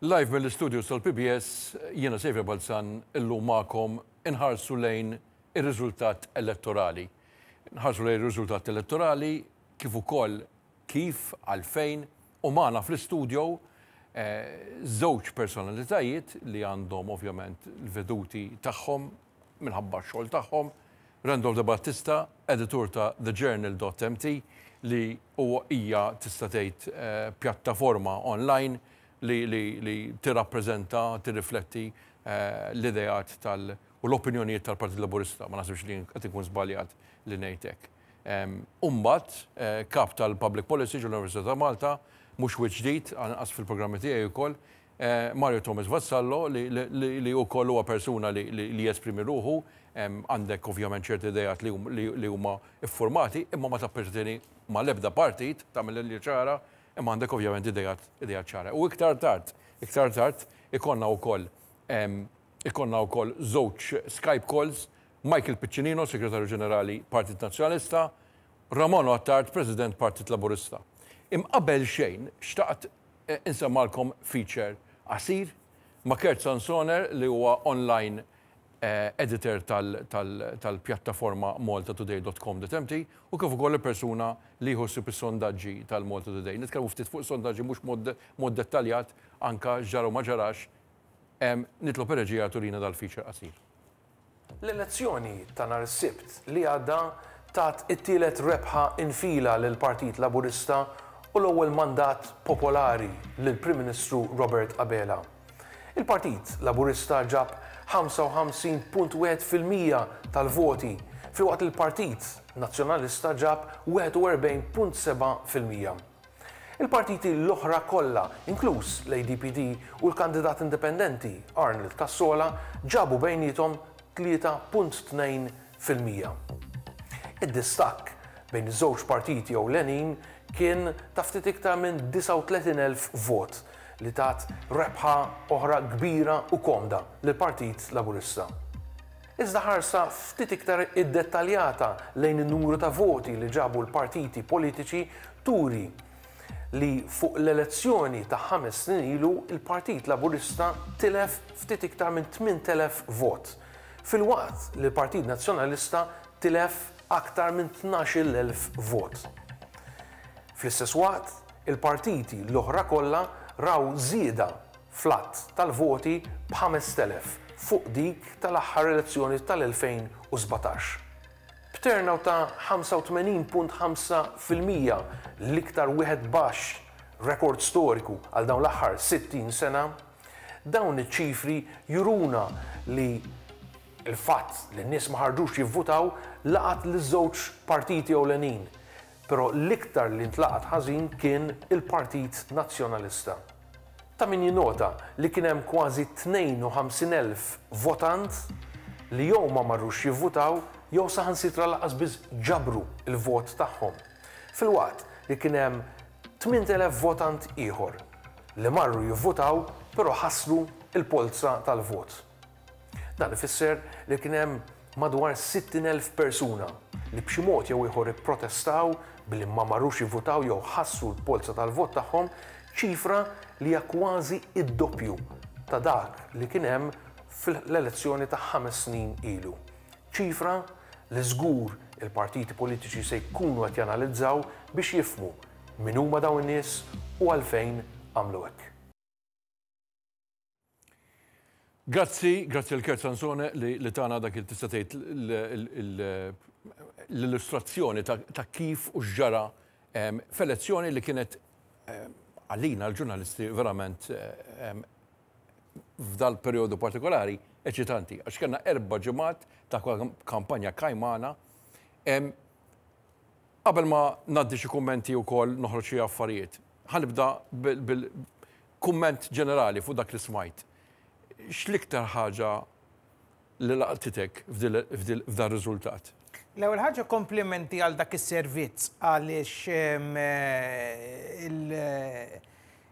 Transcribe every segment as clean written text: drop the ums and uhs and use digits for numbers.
Live mill-istudios tal-PBS, jiena Saviour Balzan illum magħkom inħarsu lejn ir-riżultat elettorali. Nħarsu lejn ir-riżultat elettorali kif ukoll kif, għalfejn u magħna fl-istudio żewġ personalitajiet li għandhom ovvjament l-veduti tagħhom minħabba x-xogħol tagħhom, Randolph De Battista, editur ta' TheJournal.mt li huwa hija tista' tgħid pjattaforma online li li li tirrappreżenta, tirrifletti l-ideat tal u l-opinjonijiet tal-Partit Laburista. Ma naħsibx li qed inkun żbaljat li ngħid hekk. U mbagħad kap tal-Public Policy ġol-Università ta' Malta, mhux wiċċ ġdid, anqas fil-programmi tiegħi wkoll, Mario Thomas Vassallo li li wkoll huwa persuna li li jesprimi ruħu, għandek ovvjament ċerti ideat li li huma ffurmati imma ma tapperteni mal-ebda partit, tagħmel linja ċara, Imma għandek ovvjament ideat, ideat ċara. U iktar tard, iktar tard ikollna wkoll ikollna wkoll żewġ Skype calls, Michael Piccinino, Segretarju Ġenerali Partit Nazzjonalista, Romano Attard, President Partit Laburista. Im qabel xejn xtaqt insemmalkom feature qasir ma' Kurt Sansoner li huwa online editor tal-pjattaforma maltatoday.com.mt u kif ukoll il-persuna li jieħu ħsieb is-sondaġġi tal-Malta Today. Nitkellmu ftit fuq is-sondaġġi mhux mod dettaljat anke x'ġara u ma ġarax. Nitlob ir-reġija turina dal-feature qasir. L-elezzjoni ta' nhar is-Sibt li għadda tat it-tielet rebħa infila lill-Partit Laburista u l-ewwel mandat popolari lill-Prim Ministru Robert Abela. Il-Partit Laburista ġab 55.1% tal-voti filwaqt li l-Partit Nazzjonalista ġab 41.7%. Il-partiti l-oħra kollha, inkluż l-ADPD u l-kandidat indipendenti Arnold Cassola ġabu bejniethom 3.2%. Id-distakk bejn iż-żewġ partiti ewlenin kien ta' ftit iktar minn 39,000 vot li tat rebħa oħra kbira u komda lill-Partit Laburista. Iżda ħarsa ftit iktar iddettaljata lejn in-numru ta' voti li ġabu l-partiti politiċi turi li fuq l-elezzjoni ta' ħames snin ilu l-Partit Laburista tilef ftit iktar minn 8,000 vot, filwaqt li l-Partit Nazzjonalista tilef aktar minn 12,000 vot. Fl-istess waqt, Il-partiti l-oħra kollha raw żieda fl-għadd tal-voti b'5,000 fuq dik tal-aħħar elezzjoni tal-2017. B'turnout ta' 85.5%, l-iktar wieħed baxx, rekord storiku għal dawn l-aħħar 60 sena, dawn iċ-ċifri juruna li l-fatt li n-nies ma ħarġux jivvutaw laqat liż-żewġ partiti ewlenin. Però l-iktar li ntlaqat ħażin kien il-Partit Nazzjonalista. Ta' min jinnota li kien hemm kważi 52,000 votant li jew ma marrux jivvutaw jew saħansitra lanqas biss ġabru l-vot tagħhom. Filwaqt li kien hemm 8,000 votant ieħor li marru jivvutaw però ħassru l-polza tal-vot. Dan ifisser li kien hemm madwar 60,000 persuna li b'xi mod jew ieħor ipprotestaw billi ma marrux jivvutaw jew ħassru l-polza tal-vot tagħhom, ċifra li hija kważi d-doppju ta' dak li kien hemm fl-elezzjoni ta' ħames snin ilu. Ċifra li żgur il-partiti politiċi se jkunu qed janalizzaw biex jifhmu min huma dawn in-nies u għalfejn għamlu hekk. Grazzi, grazzi l Kurt Sansone li, li tana dak il tista' tgħid l-illustrazzjoni ta' kif u x'ġara f'elezzjoni li kienet għalina l-ġurnalisti verament f'dal perjodu partikolari eċitanti għax kellna erba' ġimgħat ta' kampanja kajmana. Qabel ma ngħaddi xi kummenti wkoll noħroġ xi affarijiet, ħa nibda bil-kumment ġenerali fuq dak li smajt. X'l-iktar ħaġa li laqtitek f'dar-riżultat? L-ewwel ħaġa komplimenti għal dak is-servizz għaliex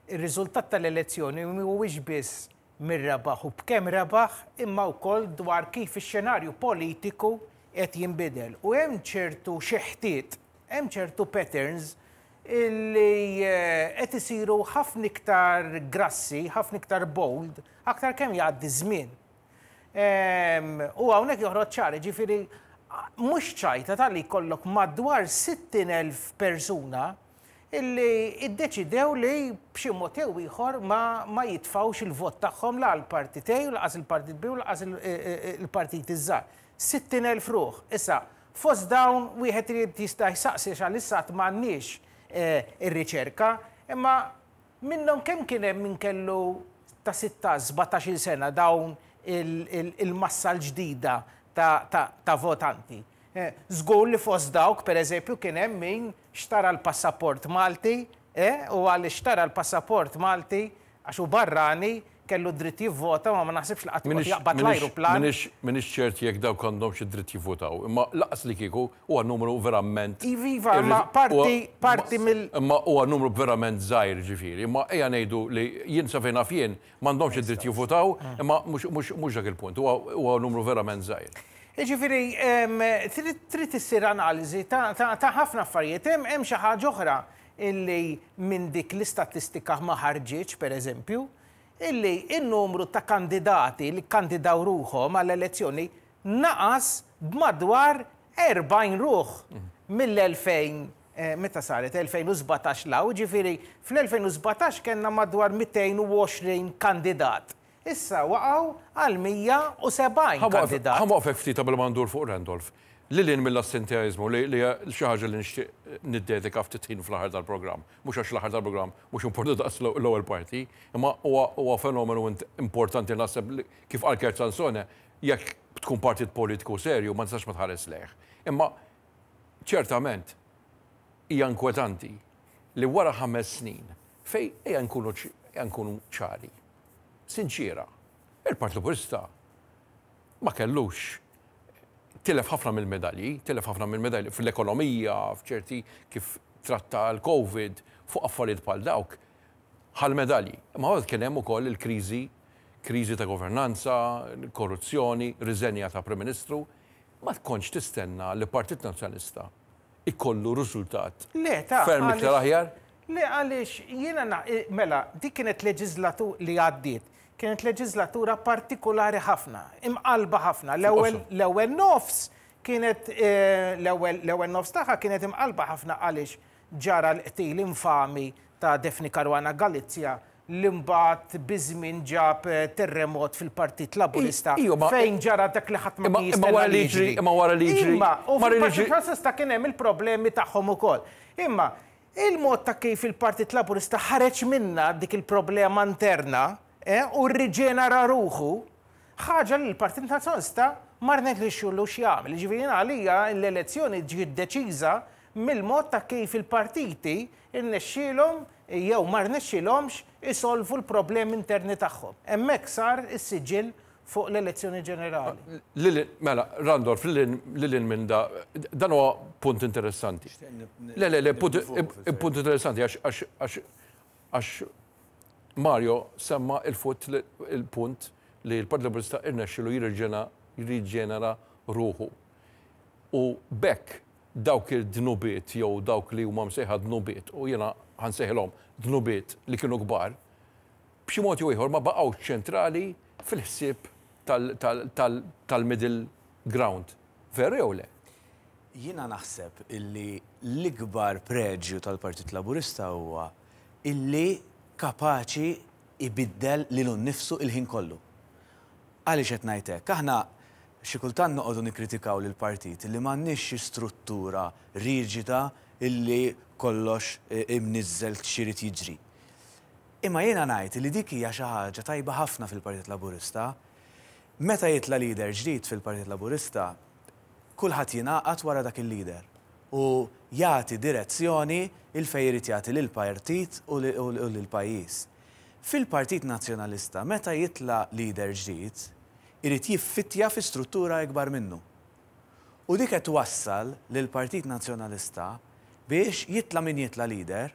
ir-riżultat tal-elezzjoni mhuwiex biss min rebaħ u b'kemm rebaħ imma wkoll dwar kif ix-xenarju politiku qed jinbidel. U hemm ċertu xeħtiet, hemm ċertu patterns illi qed isiru ħafna iktar grassi, ħafna iktar bold, aktar kemm jgħaddi żmien. U hawnhekk joħroġ ċar, jiġifieri mhux ċajta talli jkollok madwar 60,000 persuna illi iddeċidew li b'xi mod jew ieħor ma, ma jitfgħux il-vot tagħhom la għall-Partit A u laqas il-Partit B u laqas il-partiti ż-żgħar. 60,000 ruħ. Issa, fost dawn wieħed irid jista' jsaqsi għax għalissa għad m'għandniex ir-riċerka, imma minnhom kemm kien hemm min kellu ta' sittax, sbatax-il sena dawn il-massa l-ġdida ta' votanti. Żgur li fost dawk, per eżempju, kien hemm min xtara l-passaport Malti, u għaliex xtara l-passaport Malti, għax hu barrani, kellu d-dritt jivvota, ma ma naħsibx li qatt joqgħod jaqbad l-ajruplan. M'iniex ċert jekk dawk għandhomx id-dritt jivvutaw, imma lanqas li kieku huwa numru verament. Iva, iva, imma parti, parti mill. Imma huwa numru verament żgħir, ġifieri. Imma ejja ngħidu li jien sa fejn naf jien m'għandhomx id-dritt jivvutaw, imma mhux dak il-punt, huwa numru verament żgħir. Jiġifieri, trid issir analiżi ta' ħafna affarijiet. Hemm xi ħaġa oħra illi minn dik l-istatistika ma ħarġitx, pereżempju, illi n-numru ta' kandidati li kkandidaw ruħhom għall-elezzjoni naqas b'madwar 40 ruħ mill-2000 meta saret 2017 'l hawn, jiġifieri fl-2017 kellna madwar 220 kandidat. Issa waqgħu għal 170 kandidat. Ħa nwaqfek ftit qabel ma ndur fuq Randolph. Lil hinn mill-assenteaiżmu li hija xi ħaġa li nixtieq niddedika ftit ħin fl-aħħar tal-programm. Mhux għax l-aħħar tal-programm mhux importanti daqs l-ewwel parti, imma huwa fenomenu importanti naħseb li kif qal Kurt Sansone, jekk tkun partit politiku serju ma tistax ma tħares lejh. Imma ċertament hija inkwetanti li wara ħames snin fejn ejja nkunu ejja nkunu ċari, sinċiera, il-Partit Laburista ma kellux tilef ħafna mill-medalji, tilef ħafna mill-medalji fl-ekonomija, f'ċerti kif tratta l-Covid, fuq affarijiet bħal dawk, ħa l-medalji. Imma mbagħad kien hemm ukoll il-kriżi, kriżi ta' governanza, korruzzjoni, riżenja ta' Prim Ministru. Ma tkontx tistenna li Partit Nazzjonalista jkollu riżultat ferm iktar aħjar? Le għaliex jiena mela dik kienet leġiżlatura li għaddiet, kienet leġiżlatura partikulari ħafna, imqallba ħafna. L-ewwel l-ewwel nofs kienet l-ewwel l-ewwel nofs tagħha kienet imqallba ħafna għaliex ġara l-qtil infami ta' Daphne Caruana Galizia li mbagħad biż-żmien ġab terremot fil-Partit Laburista fejn ġara dak li ħadd ma kien jistenna li jiġri. Imma wara li jiġri. Imma u fil-Partit Nazzjonalista kien hemm il-problemi tagħhom ukoll. Imma il-mod ta' kif il-Partit Laburista ħareġ minnha dik il-problema interna u rriġenera ruħu, ħaġa li l-Partit Nazzjonalista ma rnexxilux jagħmel. Jiġifieri jien għalija l-elezzjoni ġiet deċiża mill-mod ta' kif il-partiti rnexxielhom jew ma rnexxielhomx isolvu l-problemi interni tagħhom. Hemmhekk sar is-siġill fuq l-elezzjoni ġenerali. Lil mela, Randolph, lil hinn minn da, dan huwa punt interessanti. Le, le, le, punt interessanti għax għax għax għax Mario semma il-futt il-punt li l-Partit Laburista irnexxielu jirriġenera ruħu. U b'hekk dawk id-dnubiet jew dawk li huma msejħa dnubiet, u jiena ħa nsejħilhom dnubiet li kienu kbar, b'xi mod jew ieħor ma baqgħux ċentrali fil-ħsieb tal-middle ground. Veru jew le? Jiena naħseb illi l-ikbar preġju tal-Partit Laburista huwa illi kapaċi jbiddel lilu nnifsu il-ħin kollu. Għaliex qed ngħid hekk? Aħna xi kultant noqogħdu nikkritikaw lill-partit li m'għandniex xi struttura riġida illi kollox imniżżel x'irid jiġri. Imma jiena ngħid li dik hija xi ħaġa tajba ħafna fil-Partit Laburista. Meta jitla' leader ġdid fil-Partit Laburista, kulħadd jingħaqad wara dak il-leader u jagħti direzzjoni 'il fejn irid jagħti lill-partit u lill-pajjiż. Fil-Partit Nazzjonalista meta jitla' leader ġdid, irid jiffittja fi struttura ikbar minnu. U dik qed twassal lill-Partit Nazzjonalista biex jitla' min jitla' leader,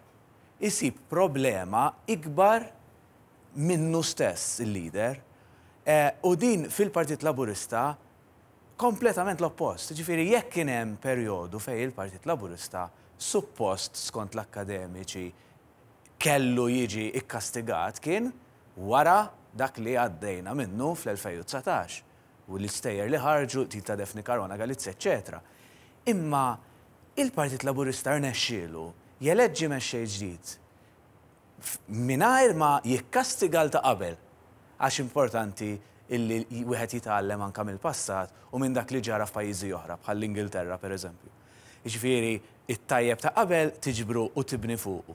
isib problema ikbar minnu stess il-leader. U din fil-Partit Laburista kompletament l-oppost. Jiġifieri jekk kien hemm perjodu fejn il-Partit Laburista suppost skont l-akkademiċi kellu jiġi kkastigat kien wara dak li għaddejna minnu fl-2019 u l-istejjer li ħarġu, l-qtil ta' Daphne Caruana Galizia eċċetera. Imma il-Partit Laburista rnexxielu jeleġġi mexxej ġdid mingħajr ma jikkastiga 'l ta' qabel għax importanti illi wieħed jitgħallem anke mill-passat u minn dak li ġara f'pajjiżi oħra bħall-Ingilterra pereżempju. Jiġifieri it-tajjeb ta' qabel tiġbru u tibni fuqu,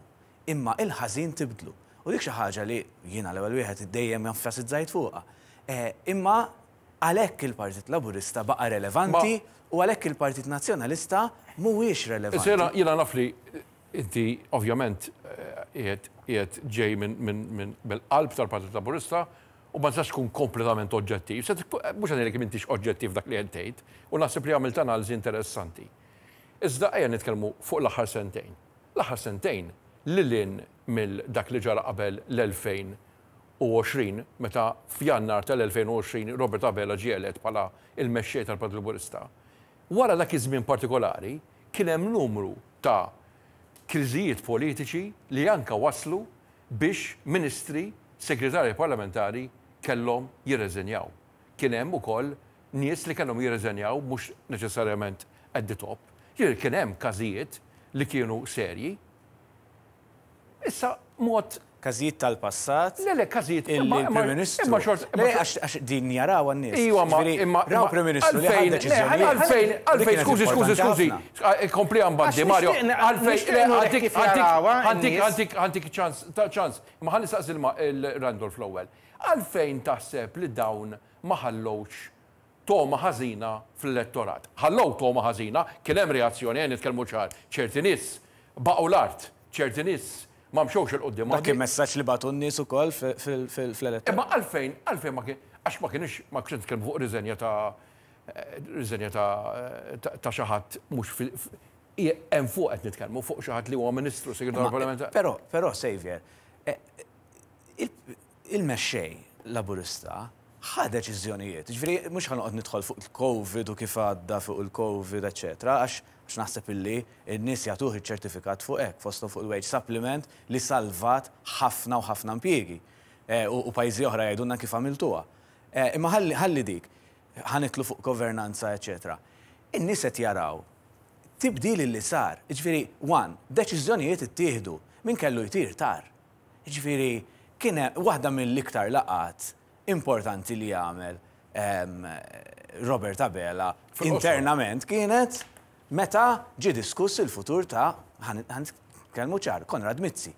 imma il-ħażin tibdlu. U dik xi ħaġa li jiena l-ewwel wieħed dejjem enfasizzajt fuqha. Imma għalhekk il-Partit Laburista baqa' relevanti u għalhekk il-Partit Nazzjonalista mhuwiex relevanti. Issa jiena naf li inti ovvjament qiegħed qiegħed ġej minn mill-qalb tal-Partit Laburista u ma tistax tkun kompletament oġġettiv. Se mhux qed ngħidlek m'intix oġġettiv f'dak li qed tgħid u naħseb li għamilt analiżi interessanti. Iżda ejja nitkellmu fuq l-aħħar sentejn. L-aħħar sentejn, lil hinn mill dak li ġara qabel l-2020, meta f'Jannar tal-2020 Robert Abela ġie elett bħala l-Mexxej tal-Partit Laburista, wara dak iż-żmien partikolari kien hemm numru ta' kriżijiet politiċi li anke wasslu biex ministri, segretarji parlamentari kellhom jirreżenjaw. Kien hemm ukoll nies li kellhom jirreżenjaw mhux neċessarjament at the top. Jiġifieri kien hemm każijiet li kienu serji. Issa mod. Każijiet tal-passat. Le, le, każijiet. Illi l-Prim Ministru. Imma xort. Le, għax din jarawha n-nies. Iwa, ma. Imma. Raw Prim Ministru li ħa deċiżjonijiet. Għalfejn, għalfejn, skużi, skużi, skużi. Kompli għan Mario. Għalfejn, le, għantik, għantik, għantik, għantik ċans, ċans. Imma ħalli saqsi l-Randolph l-ewwel. Għalfejn taħseb li dawn ma ħallewx togħma ħażina fl-elettorat. Ħallew togħma ħażina, kien hemm reazzjoni, ejja nitkellmu ċar, ċerti nies baqgħu l-art, ċerti nies ma mxewx 'il quddiem. Dak kien messaġġ li bagħtu n-nies ukoll fl-elettorat. Imma għalfejn, għalfejn ma kien, għax ma kinux, ma kienx nitkellmu fuq riżenja ta' riżenja ta' ta' xi ħadd mhux fi, hemm fuq qed nitkellmu, fuq xi ħadd li huwa Ministru, Segretarju Parlamentari. Però, però Saviour, il-mexxej Laburista ħa deċiżjonijiet. Jiġifieri mhux ħa noqgħod nidħol fuq il-Covid u kif għadda fuq il-Covid eċċetera għax għax naħseb illi n-nies jagħtuh iċ-ċertifikat fuq hekk, fosthom fuq il-wage supplement li salvat ħafna u ħafna impjiegi. U pajjiżi oħra jgħidulna kif għamiltuha. Imma ħalli ħalli dik. Ħa nidħlu fuq governanza eċċetera. In-nies qed jaraw tibdil illi sar. Jiġifieri, one, deċiżjonijiet ittieħdu. Min kellu jtir tar. Jiġifieri kien hemm waħda mill-iktar laqgħat importanti li għamel Robert Abela internament kienet meta ġie diskuss il-futur ta' ħa nitkellmu ċar, Konrad Mizzi.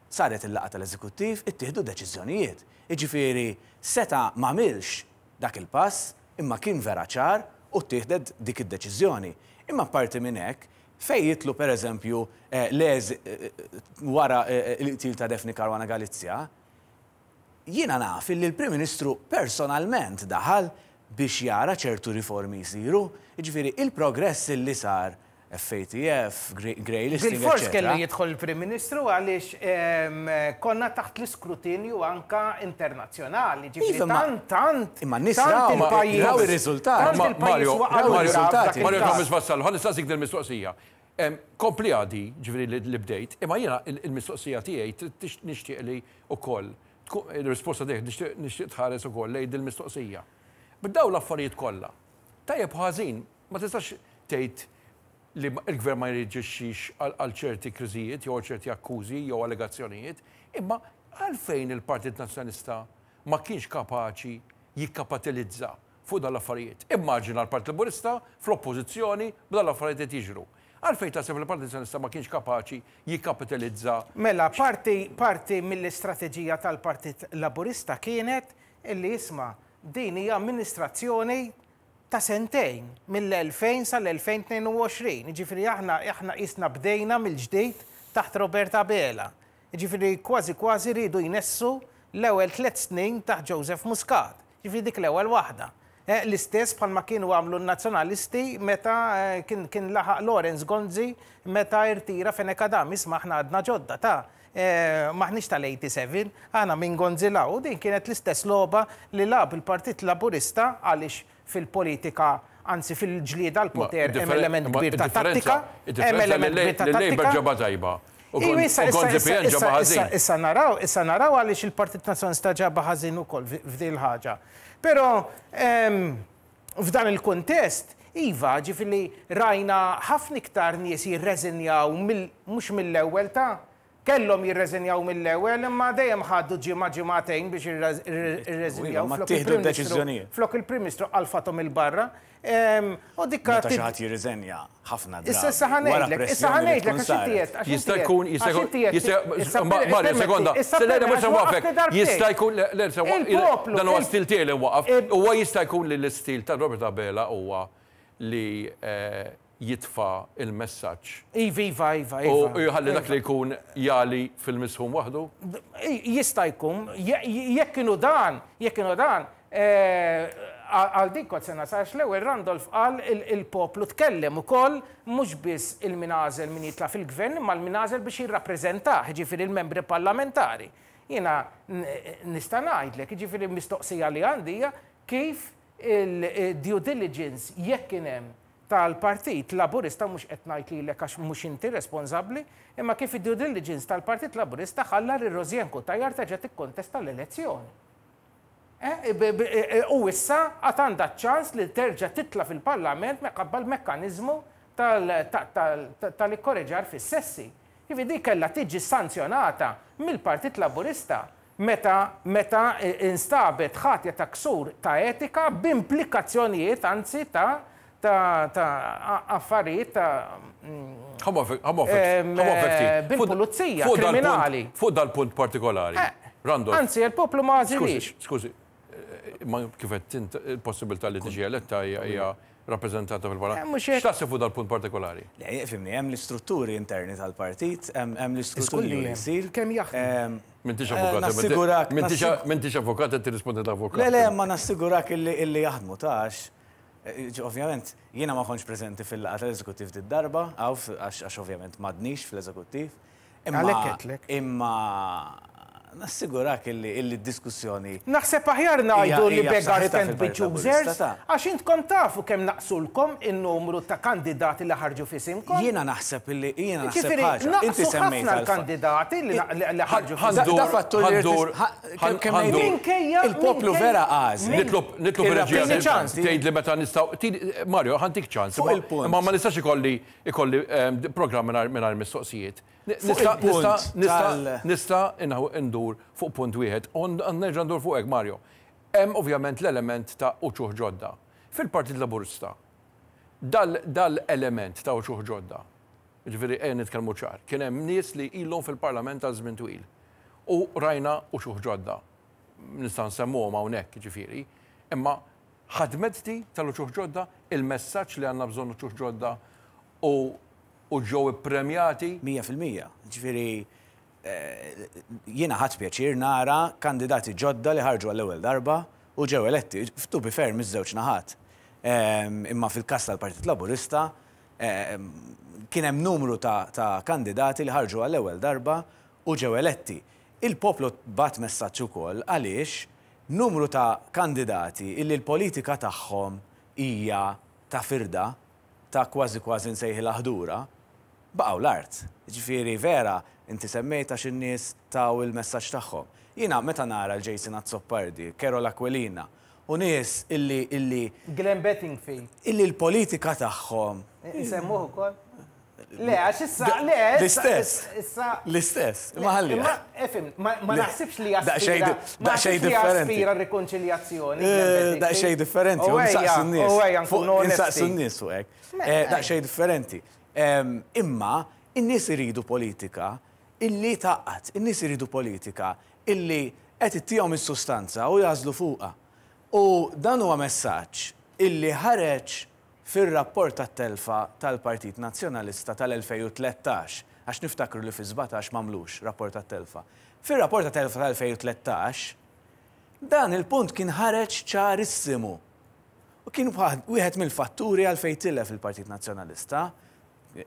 Saret il-laqgħa tal-Eżekuttiv, ittieħdu deċiżjonijiet. Jiġifieri seta' m'għamilx dak il-pass imma kien vera ċar u ttieħdet dik id-deċiżjoni. Imma apparti minn hekk, Fejn jidħlu per eżempju l-eż wara l-qtil ta' Daphne Caruana Galizia, jiena naf illi l-Prim Ministru personalment daħal biex jara ċertu riformi jsiru. Jiġifieri il-progress illi sar, FATF, grey listing, Bilfors eċċetera. kellu jidħol il-Prim Ministru għaliex konna taħt l-iskrutinju anke internazzjonali. Ġifieri Iva, imma tant, tant, imma n-nies tant raw, il-pajjiż raw ir-riżultati. tant il-pajjiż Mario, waqa' Raw lura ir-riżultati. f'dak Mario il-każ. Thomas Vassallo, ħa nistaqsik din il-mistoqsija. Kompli għadi, ġifieri li bdejt, imma jiena il-mistoqsija tiegħi nixtieq li wkoll il-risposta tiegħek nixtieq tħares ukoll lejn dil-mistoqsija. B'dawn l-affarijiet kollha, tajjeb u ħażin, ma tistax tgħid li l-gvern ma jirreaġixxix għal ċerti kriżijiet jew għal ċerti akkużi jew allegazzjonijiet, imma għalfejn il-Partit Nazzjonalista ma kienx kapaċi jikkapatilizza fuq dawn l-affarijiet? Immaġina l-Partit Laburista fl-Oppożizzjoni b'dawn l-affarijiet qed jiġru. Għalfejn taħseb li l-Partit Nazzjonalista ma kienx kapaċi jikkapitilizza? Mela, parti, parti mill-istrateġija tal-Partit Laburista kienet illi isma' din hija amministrazzjoni ta' sentejn, mill-2000 sal-2022. Jiġifieri aħna aħna qisna bdejna mill-ġdid taħt Robert Abela. Jiġifieri kważi kważi riedu jnessu l-ewwel tlett snin taħt Joseph Muscat. Jiġifieri dik l-ewwel waħda. L-istess bħalma kienu għamlu n-Nazzjonalisti meta kien kien laħaq Lawrence Gonzi meta irtira Fenech Adami. Isma' aħna għadna ġodda ta'. M'aħniex tal-87, aħna minn Gonzi 'l hawn. U din kienet l-istess logħba li lagħab il-Partit Laburista għaliex fil-politika, anzi fil-ġlieda għall-poter hemm element kbir ta' tattika, hemm element kbir ta' Il-Labour tattika. ġabha tajba. U kont il-PN ġabha ħażin. Issa naraw, issa naraw għaliex il-Partit Nazzjonalista ġabha ħażin ukoll f'din il-ħaġa. Però f'dan il-kuntest, iva, ġifieri rajna ħafna iktar nies jirreżinjaw mhux mill-ewwel ta' Kellhom jirreżinjaw mill-ewwel imma dejjem ħadu ġimgħa ġimgħatejn biex irreżinjaw flok il-Prim Ministru flok il-Prim Ministru qalfathom 'il barra. U dik Meta xi ħadd jirriżenja ħafna drabi. Issa issa ħa ngħidlek, issa ħa ngħidlek għax inti għedt, għax Jista' jkun, jista' jkun, jista' Mario, sekonda, le mhux se nwaqqfek. Jista' jkun, le le se dan huwa stil tiegħi li nwaqqaf. Huwa jista' jkun li l-istil ta' Robert Abela huwa li jitfa' l-messaġġ. Iva, iva, iva, iva. U jħalli dak li jkun jagħli fil-misħun waħdu? Jista' jkun. Jekk inhu dan, jekk inhu dan, għal dik kont se nasal għax l-ewwel Randolph qal il-poplu tkellem ukoll mhux biss il-min għażel min jitla' fil-gvern imma l-min għażel biex jirrappreżentah, jiġifieri l-membri parlamentari. Jiena nista' ngħidlek, jiġifieri l-mistoqsija li għandi hija kif il-due diligence jekk kien hemm tal-Partit Laburista, mhux qed ngħid lilek għax mhux inti responsabbli, imma kif id-due diligence tal-Partit Laburista ħalla lil Rosianne Cutajar terġa' tikkontesta l-elezzjoni. U issa għad għandha ċ-ċans li terġa' titla' fil-Parlament minħabba l-mekkaniżmu tal-ikkoreġar fis-sessi. Jiġifieri din kellha tiġi sanzjonata mill-Partit Laburista meta meta instabet ħatja ta' ksur ta' etika b'implikazzjonijiet anzi ta' ta' ta' affarijiet ta' bil-pulizija kriminali. Fuq dal-punt partikolari, Randolph. Anzi, il-poplu ma għażilhiex. Skużi, imma kif għedt int, il-possibilità li tiġi eletta hija rappreżentata fil-Parlament. X'taħseb fuq dal-punt partikolari? Le, ifhimni, hemm l-istrutturi interni tal-partit, hemm l-iskrutinju li jsir. Kemm jaħdmu. M'intix avukat. Nassigurak. M'intix avukat qed tirrispondi ta' avukat. Le, le, imma nassigurak illi jaħdmu ta' għax ovvjament jiena ma kontx preżenti fil-laqgħa tal-eżekuttiv did-darba, għax ovvjament m'għadnix fl-eżekuttiv. Għalhekk għedtlek. Imma nassigurak illi d-diskussjoni. Naħseb aħjar ngħidu li beggars can't be choosers, għax intkom tafu kemm naqsulkom in-numru ta' kandidati li ħarġu f'isimkom. Jiena naħseb illi jiena naħseb ħaġa. Inti semmejt ħafna l-kandidati li ħarġu f'isimkom. Da fattur li Minkejja il-poplu vera għażel. Nitlob nitlob ir-reġija tgħidli meta nistgħu. Mario, ħa ntik ċans. Imma ma nistax ikolli ikolli programm mingħajr mistoqsijiet. Nista' nista' nista' ndur fuq punt wieħed u nerġa' ndur fuqek Mario. Hemm ovvjament l-element ta' uċuħ ġodda. Fil-Partit Laburista dal-element ta' uċuħ ġodda, jiġifieri ejja nitkellmu ċar, kien hemm nies li ilhom fil-Parlament għal żmien twil u rajna uċuħ ġodda. Nista' nsemmuhom hawnhekk jiġifieri, imma ħadmet di tal-uċuħ ġodda, il-messaġġ li għandna bżonn uċuħ ġodda u u ġew ippremjati. 100%. Jiġifieri jiena ħadt pjaċir nara kandidati ġodda li ħarġu għall-ewwel darba u ġew eletti, to be fair miż-żewġ naħat. Imma fil-każ tal-Partit Laburista kien hemm numru ta' kandidati li ħarġu għall-ewwel darba u ġew eletti. Il-poplu bagħat messaġġ ukoll għaliex numru ta' kandidati illi l-politika tagħhom hija ta' firda, ta' kważi kważi nsejħilha ħdura, baqgħu l-art. Jiġifieri vera, inti semmejt għax in-nies taw il-messaġġ tagħhom. Jiena meta nara 'l Jason Azzopardi, Karol Aquilina u nies illi illi. Glenn Bedingfield. Illi l-politika tagħhom. Insemmuh ukoll? Le, għax issa, le, L-istess. Issa. L-istess, imma ħalliha. Imma, ifhem, ma naħsibx li jaspira. Daqsxejn differenti. Jaspira rikonċiljazzjoni. Daqsxejn differenti, u nsaqsu n-nies. U ejja nkunu onesti. Insaqsu n-nies fuq hekk. Daqsxejn differenti. Imma in-nies iridu politika illi tgħaqqad, in-nies iridu politika illi qed ittihom is-sustanza u jagħżlu fuqha. U dan huwa messaġġ illi ħareġ Fir-rapport tat-telfa tal-Partit Nazzjonalista tal-2013, għax niftakru li fis-17 m'għamlux rapport tat-telfa, fir-rapport tat-telfa tal-2013, dan il-punt kien ħareġ ċarissimu. U kien wieħed mill-fatturi għalfejn tilef il-Partit Nazzjonalista.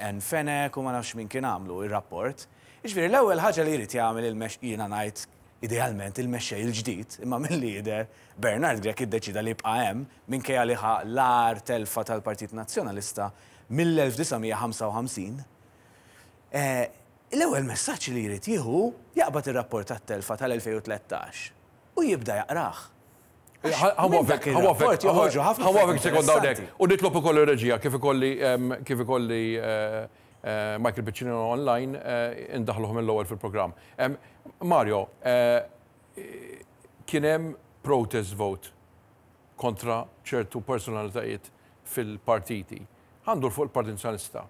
Ann Fenech u ma nafx min kien għamlu r-rapport. Jiġifieri l-ewwel ħaġa li jrid jagħmel il-mexx jiena ngħid idealment il-mexxej il-ġdid, imma milli jidher Bernard Grech iddeċieda li jibqa' hemm minkejja li ħa l-agħar telfa tal-Partit Nazzjonalista mill-1955. L-ewwel messaġġ li jrid jieħu hu jaqbad ir-rapport tat-telfa tal-2013 u jibda jaqrah. Għax minn dak ir-rapport joħorġu ħafna Ħa nwaqqfek sekonda hawnhekk. U nitlob ukoll ir-reġija kif ikolli kif ikolli Michael Piccinino online indaħħluh mill-ewwel fil-programm. Mario, kien hemm protest vote kontra ċertu personalitajiet fil-partiti. Ħa ndur fuq il-Partit Nazzjonalista.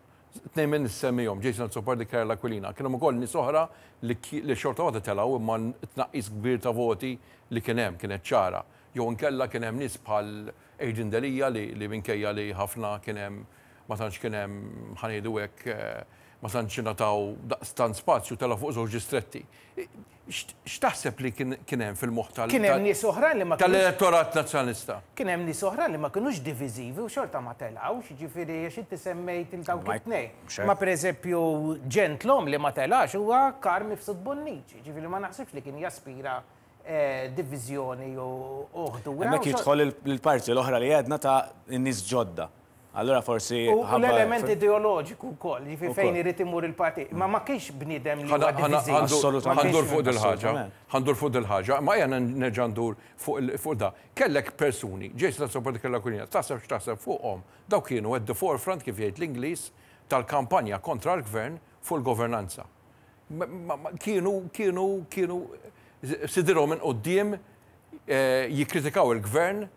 Tnejn minn nsemmihom, Jason Azzopardi, Karol Aquilina. Kien hemm ukoll nies oħra li li xorta waħda telgħu imma t-tnaqqis kbir ta' voti li kien hemm kienet ċara. Jew inkella kien hemm nies bħal Adrian Delia li li minkejja li ħafna kien hemm ma tantx kien hemm ħa ngħidu hekk ma tantx ingħataw daqstant spazju telgħu fuq żewġ distretti. X'taħseb li kien hemm fil-moħħ tal- Kien hemm nies oħrajn li ma kinux. Tal-elettorat Nazzjonalista? Kien hemm nies oħrajn li ma kinux diviżivi u xorta ma telgħux, jiġifieri għax inti semmejt lil dawk it-tnejn. Ma pereżempju ġentlom li ma telax huwa Karm Mifsud Bonnici, jiġifieri ma naħsibx li kien jaspira diviżjoni u ħdura. Hemmhekk jidħol il-parti l-oħra li għedna ta' nies ġodda. Allura forsi. U l-element ideoloġiku wkoll, jiġifieri fejn irid imur il-partit. Ma ma kienx bniedem li huwa diviżiv. Assolutament. Ħa ndur fuq dil-ħaġa. Ħa ndur fuq dil-ħaġa. Ma ejja nerġa' ndur fuq da. Kellek persuni, Jason Azzopardi Karl Aquilina, taħseb x'taħseb fuqhom, dawk kienu at the forefront, kif jgħid l-Ingliż, tal-kampanja kontra l-gvern fuq il-governanza. Kienu, kienu, kienu sidirhom minn quddiem jikkritikaw il-gvern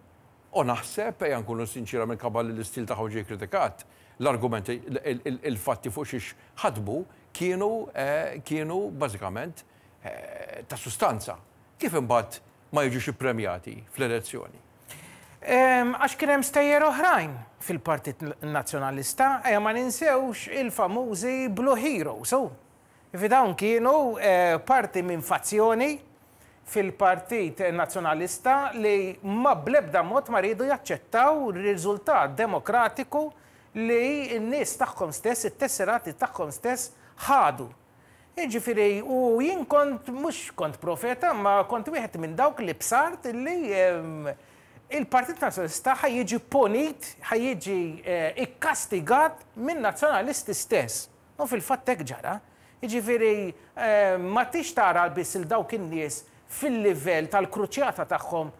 U naħseb, ejja nkunu sinċiera minħabba li l-istil tagħhom ġie kkritikat, l-argumenti, il-fatti fuq xiex ħadmu kienu kienu bażikament ta' sustanza. Kif imbagħad ma jiġux ippremjati fl-elezzjoni? Għax kien hemm stejjer oħrajn fil-Partit Nazzjonalista, ejja ma ninsewx il-famużi Blue Heroes, hu. Jiġifieri dawn kienu parti minn fazzjoni fil-Partit Nazzjonalista li ma bl-ebda mod ma riedu jaċċettaw riżultat demokratiku li n-nies tagħhom stess, it-tesserati tagħhom stess ħadu. Jiġifieri, u jien kont, mhux kont profeta, imma kont wieħed minn dawk li bsart li il-Partit Nazzjonalista ħa jiġi punit, ħa jiġi ikkastigat min-Nazzjonalisti stess. U fil-fatt hekk ġara. Jiġifieri ma tix tara biss 'il dawk in-nies fil-livell tal-kruċjata tagħhom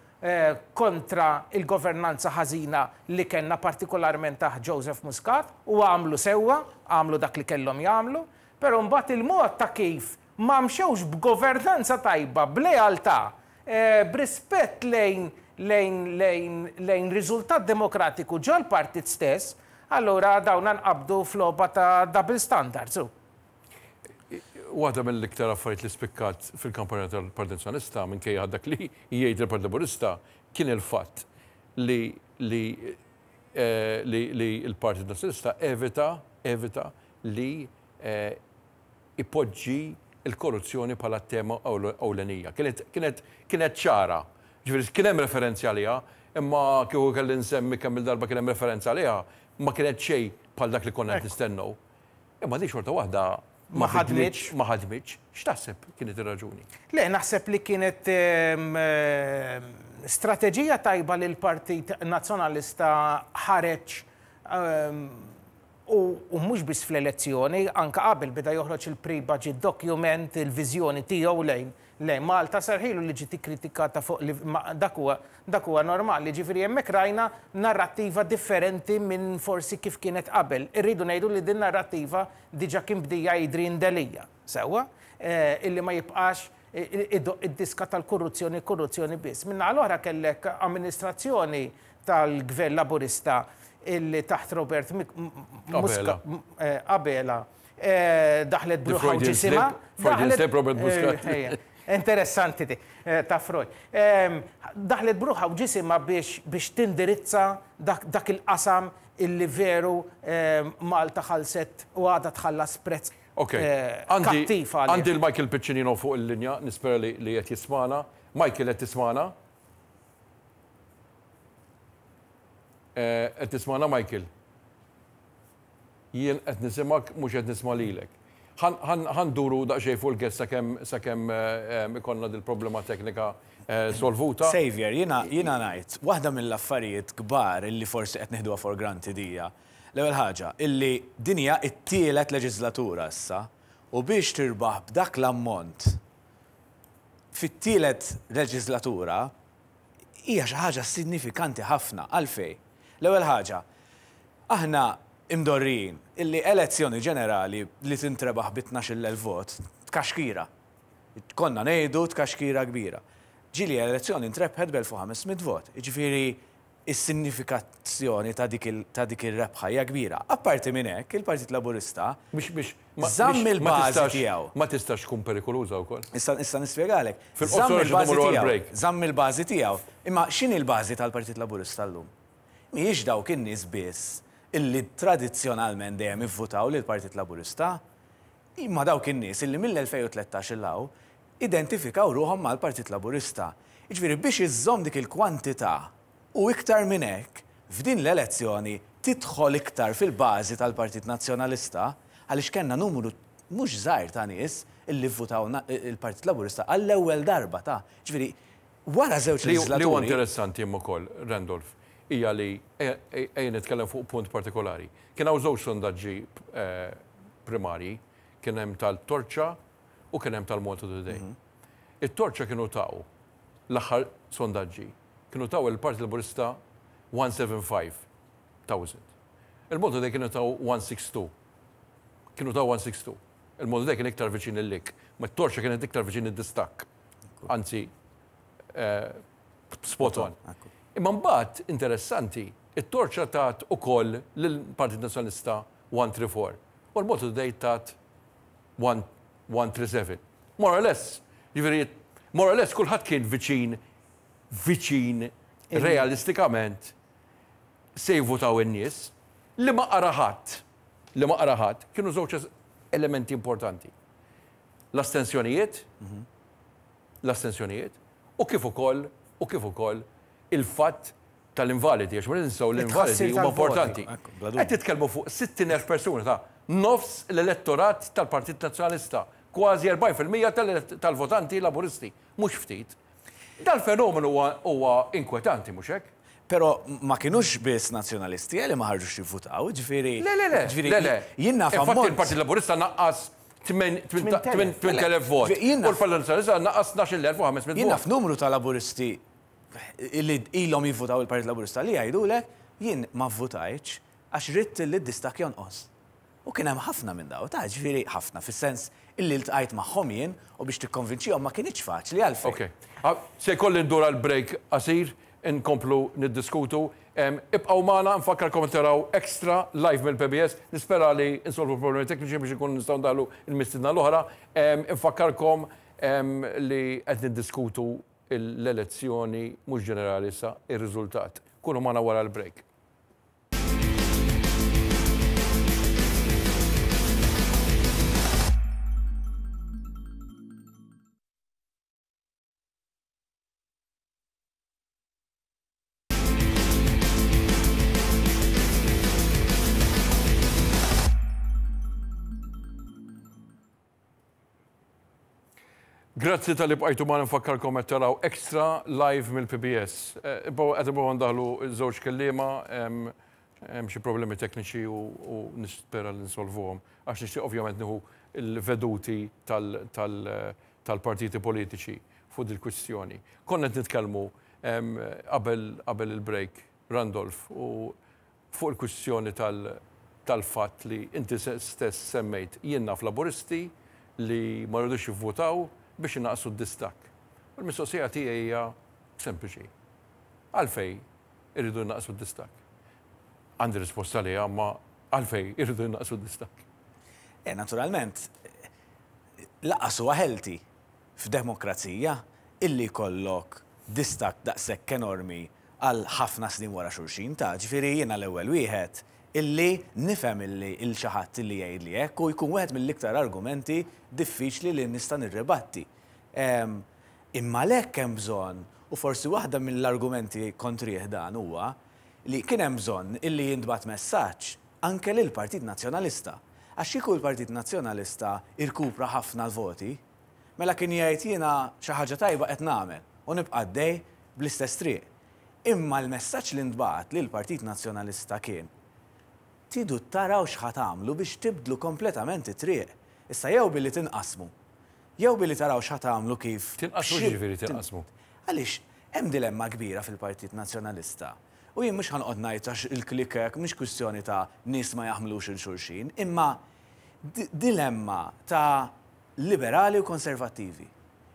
kontra l-governanza ħażina li kellna partikolarment taħt Joseph Muscat u għamlu sewwa, għamlu dak li kellhom jagħmlu, però mbagħad il-mod ta' kif ma mxewx b'governanza tajba, b'lealtà, b'rispett lejn lejn lejn lejn riżultat demokratiku ġol-partit stess, allura dawna nqabdu f'logħba ta' double standards u. Waħda mill-iktar affarijiet li spikkat fil-kampanja tal-Partit Nazzjonalista, minkejja dak li jgħid il-Partit Laburista, kien il-fatt li li li li l-Partit Nazzjonalista evita evita li ipoġġi l-korruzzjoni bħala tema ewlenija. Kienet, kienet, kienet ċara. Ġifieri kien hemm referenzi għaliha, imma kieku kelli nsemmi kemm-il darba kien hemm referenza għaliha, ma kienet xejn bħal dak li konna qed nistennew. Imma din xorta waħda ma ħadmitx. Ma ħadmitx. X'taħseb kienet ir-raġuni? Le, naħseb li kienet strateġija tajba li l-Partit Nazzjonalista ħareġ U mhux biss fl-elezzjoni, anke qabel beda joħroġ il-pre-budget document, il-viżjoni tiegħu lejn lejn Malta, sarħilu li ġiet ikkritikata fuq li dak huwa dak huwa normali. Jiġifieri hemmhekk rajna narrattiva differenti minn forsi kif kienet qabel. Irridu ngħidu li din narrattiva diġà kien bdieha Adrian Delia, sewwa, illi ma jibqax idoqq id-diska tal-korruzzjoni, korruzzjoni biss. Min-naħa l-oħra kellek amministrazzjoni tal-Gvern Laburista illi taħt Robert Muscat Abela daħlet b'ruħha u ġisimha. Freudian slip Robert Muscat. Interessanti di, ta' Freud. Daħlet b'ruħha u ġisimha biex tindirizza dak il-qasam illi veru Malta ħallset u għadha tħallas prezz kattiv għalih. Għandi l-Michael Piccinino fuq il-linja, nispera li qed jismagħna. Michael qed tismagħna? Qed tismagħna Michael? Jien qed nisimgħek mhux qed nisma' lilek. Ħa nduru daqsxejn fuq il-guest sakemm sakemm ikollna dil-problema teknika solvuta. Saviour, jiena jiena ngħid, waħda mill-affarijiet kbar illi forsi qed nieħduha for granted hija, l-ewwel ħaġa, illi din hija t-tielet leġiżlatura issa. U biex tirbaħ b'dak l-ammont fit-tielet leġislatura hija xi ħaġa sinnifikanti ħafna. Għalfejn? L-ewwel ħaġa, aħna imdorrijin illi elezzjoni ġenerali li tintrebaħ bi 12,000 vot tkaxkira. Konna ngħidu tkaxkira kbira. Ġieli elezzjoni ntrebħet b'1500 vot. Jiġifieri is-signifikazzjoni ta' dik il, ta' dik ir-rebħa hija kbira. Apparti minn hekk, il-Partit Laburista Biex biex ma żamm biex ma il-bażi tistax tiegħu. ma tistax tkun perikoluża wkoll. Issa issa nispjegalek. Fil-qosor Żamm għax il-bażi immorru tiegħu. għall-break. Żamm il-bażi tiegħu. Imma x'inhi l-bażi tal-Partit Laburista llum? Mhijiex dawk in-nies biss illi tradizzjonalment dejjem ivvutaw lill-Partit Laburista, imma dawk in-nies illi mill-2013 'il hawn identifikaw ruħhom mal-Partit Laburista. Jiġifieri biex iżżomm dik il-kwantità u iktar minn hekk, f'din l-elezzjoni tidħol iktar fil-bażi tal-Partit Nazzjonalista għaliex kellna numru mhux żgħir ta' nies illi vvutaw il-Partit Laburista għall-ewwel darba ta' Ġifieri wara żewġ Li huwa leġislaturi. interessanti imma wkoll, Randolph, hija li ejja nitkellem fuq punt partikolari. Kien hawn żewġ sondaġġi primarji, kien hemm tal-Torċa u kien hemm tal-Malta Today. It-Torċa kienu taw l-aħħar sondaġġi, kienu taw il-Partit Laburista 175,000. Il-Malta Today kienu taw 162. Kienu taw 162. Il-Malta Today kien iktar viċin il-lik, ma t-Torċa kienet iktar viċin id-distakk. Anzi, spot on. Imma mbagħad interessanti, it-Torċa tat ukoll lill-Partit Nazzjonalista 134 u l-Malta Today tat 137. More or less, jiġifieri more or less kulħadd kien viċin viċin realistikament se jivvutaw in-nies li ma qara ħadd, li ma qara ħadd kienu żewġ elementi importanti. L-astensjonijiet, l-astensjonijiet u kif ukoll u kif ukoll il-fatt tal-invalidi, għax ma ninsew l-invalidi huma importanti. Qed titkellmu fuq 60,000 persuna ta' nofs l-elettorat tal-Partit Nazzjonalista, kważi 40% tal-votanti Laburisti, mhux ftit. Dal-fenomenu huwa inkwetanti, mhux hekk? Però ma kinux biss Nazzjonalisti li ma ħarġux jivvutaw, ġifieri. Le, le, le. Ġifieri Le, le. jien naf Infatti ammont. il-Partit Laburista naqqas 8,000 vot. Jien U naf- l-Partit Nazzjonalista naqqas 12,500 Jien naf vot. numru ta' Laburisti li ilhom jivvutaw il-Partit Laburista li jgħidulek jien ma vvutajtx għax ridt li d-distakk jonqos. U kien hemm ħafna minn daw, ta' ġifieri ħafna fis-sens illi ltqajt magħhom jien u biex tikkonvinċihom ma kinitx faċli għalfejn. Ok. Se jkolli ndur għal break qasir, inkomplu niddiskutu. Ibqgħu magħna, nfakkarkom taraw extra live mill-PBS. Nispera li insolvu problemi tekniċi biex ikun nistgħu ndaħlu il-mistiedna l-oħra. Infakkarkom li qed niddiskutu l-elezzjoni mhux ġenerali sa ir-riżultat. Kunu magħna wara l-break. Grazzi talli bqajtu magħna nfakkarkom qed taraw extra live mill-PBS. Qed nibqgħu ndaħlu żewġ kelliema, hemm xi problemi tekniċi u nispera li nsolvuhom għax nixtieq ovvjament nieħu l-veduti tal-partiti politiċi fuq dil-kwistjoni. Konna qed nitkellmu qabel il-break, Randolph, u fuq il-kwistjoni tal-fatt li inti stess semmejt jien naf Laburisti li ma rridux jivvutaw biex inaqqsu d-distakk. U l-mistoqsija tiegħi hija sempliċi. Għalfejn irridu jnaqqsu d-distakk? Għandi risposta għaliha, imma għalfejn irridu jnaqqsu d-distakk? Naturalment, lanqas huwa healthy f'demokrazija illi jkollok distakk daqshekk enormi għal ħafna snin wara xulxin ta' ġifieri jiena l-ewwel wieħed illi nifhem illi il xi ħadd illi jgħidli hekk u jkun wieħed mill-iktar argumenti diffiċli li nista' nirribatti. Imma għalhekk hemm bżonn, u forsi waħda mill-argumenti kontrih dan huwa li kien hemm bżonn illi jintbagħat messaġġ anke lill-Partit Nazzjonalista. Għax kieku l-Partit Nazzjonalista irkupra ħafna l-voti, mela kien jgħid jiena xi ħaġa tajba qed nagħmel u nibqa' għaddej bl-istess triq. Imma l-messaġġ li ntbagħat lill-Partit Nazzjonalista kien, tridu taraw x'ħa tagħmlu biex tibdlu kompletament it-triq. Issa jew billi tinqasmu, jew billi taraw x'ħa tagħmlu kif. Tinqasmu x'jiġifieri tinqasmu? Għaliex hemm dilemma kbira fil-Partit Nazzjonalista. U jien mhux ħa noqgħod ngħid għax il-klikek mhix kwistjoni ta' nies ma jaħmlux 'il xulxin, imma dilemma ta' liberali u konservattivi.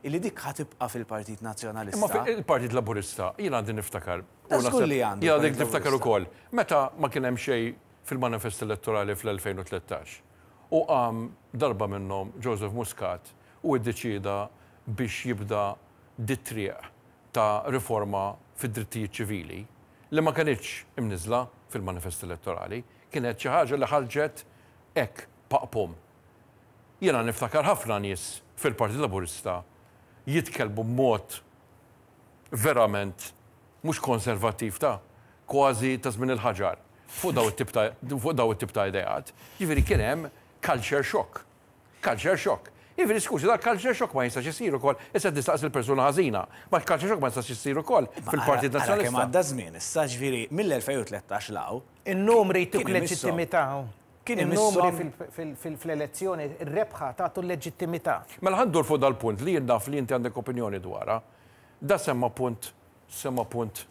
Illi dik ħa tibqa' fil-Partit Nazzjonalista. Imma il-Partit Laburista, jien għandi niftakar. Da żgur li għandu. Jien għandi niftakar ukoll. Meta ma kien hemm xejn fil-manifest elettorali fl-2013 u qam darba minnhom Joseph Muscat u iddeċieda biex jibda dit-triq ta' riforma fid-drittijiet ċivili li ma kenitx imniżżla fil-manifest elettorali, kienet xi ħaġa li ħarġet hekk paqpum. Jiena niftakar ħafna nies fil-Partit Laburista jitkellmu b'mod verament mhux konservattiv ta' kważi ta' żmien il-ħaġar fuq dawn it-tip ta' fuq dawn it-tip ta' ideat. Jiġifieri kien hemm culture shock. Culture shock. Jiġifieri skużi, dal-culture shock ma jistax isir ukoll, issa qed nistaqsi l-persuna ħażina, ma l-culture shock ma jistax isir ukoll fil-Partit Ara kemm Nazzjonalista. għadda żmien issa, ġifieri mill-2013 'l hawn. In-numri jtuk Kien imisshom. leġittimità. Kien In-numri imisshom. fl-elezzjoni, ir-rebħa tagħtu l-leġittimità. Mela ħa ndur fuq dal-punt li jien naf li inti għandek opinjoni dwarha. Da semma punt, semma punt,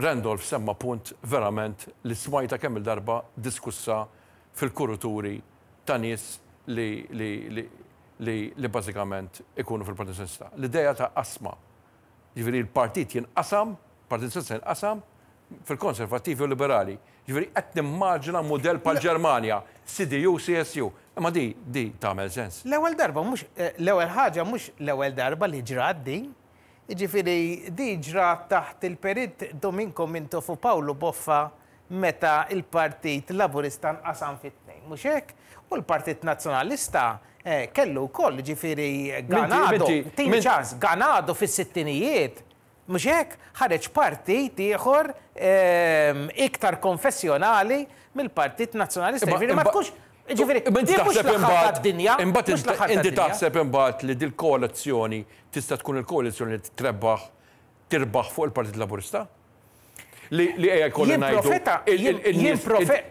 Randolph semma punt verament li smajtha kemm-il darba diskussa fil-kuruturi ta' nies li li li li li bażikament ikunu fil-Partit Nazzjonalista. L-idea ta' qasma. Jiġifieri l-partit jinqasam, Partit Nazzjonalista jinqasam fil-Konservattivi u Liberali. Jiġifieri qed nimmaġina mudell bħall-Ġermanja, CDU, CSU. Imma di di tagħmel sens. L-ewwel darba mhux l-ewwel ħaġa mhux l-ewwel darba li ġrat din. Jiġifieri di ġrat taħt il-Perit Dominko Mintoff u Pawlu Boffa meta l-Partit Laburista nqasam fi tnejn, mhux hekk? U l-Partit Nazzjonalista kellu wkoll, jiġifieri Ganado, tini ċans, Ganado fis-sittinijiet, mhux hekk? Ħareġ partit ieħor iktar konfessjonali mill-Partit Nazzjonalista. Jiġifieri ma tkunx, jiġifieri din mhux l-aħħar tad-dinja. Imbagħad inti taħseb imbagħad li dil-koalizzjoni tista' tkun il-koalizzjoni li trebbaħ tirbaħ fuq il-Partit Laburista? Li li ejja jkolli ngħidu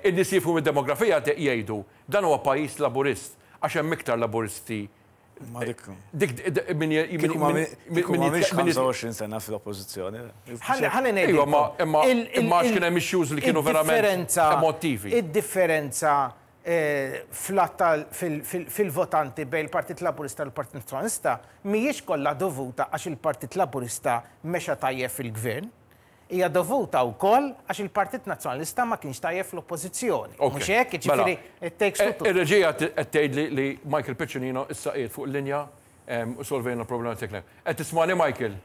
in-nies jifhmu mid-demografija jgħidu dan huwa pajjiż Laburist għax hemm iktar Laburisti. Dik min min 25 sena fl-oppożizzjoni. Ħalli ngħid. Imma imma għax kien hemm issues li kienu verament emotivi. Id-differenza fil-votanti bejn il-Partit Laburista u l-Partit Nazzjonalista mhijiex kollha dovuta għax il-Partit Laburista mexa tajjeb fil-Gvern. Hija dovuta wkoll għax il-Partit Nazzjonalista ma kienx tajjeb fl-Oppożizzjoni. Mhux hekk? Jiġifieri it takes two to. Ir-reġija qed tgħidli li Michael Piccinino issa qiegħed fuq il-linja u solvejna l-problema teknika. Qed tismagħni Michael?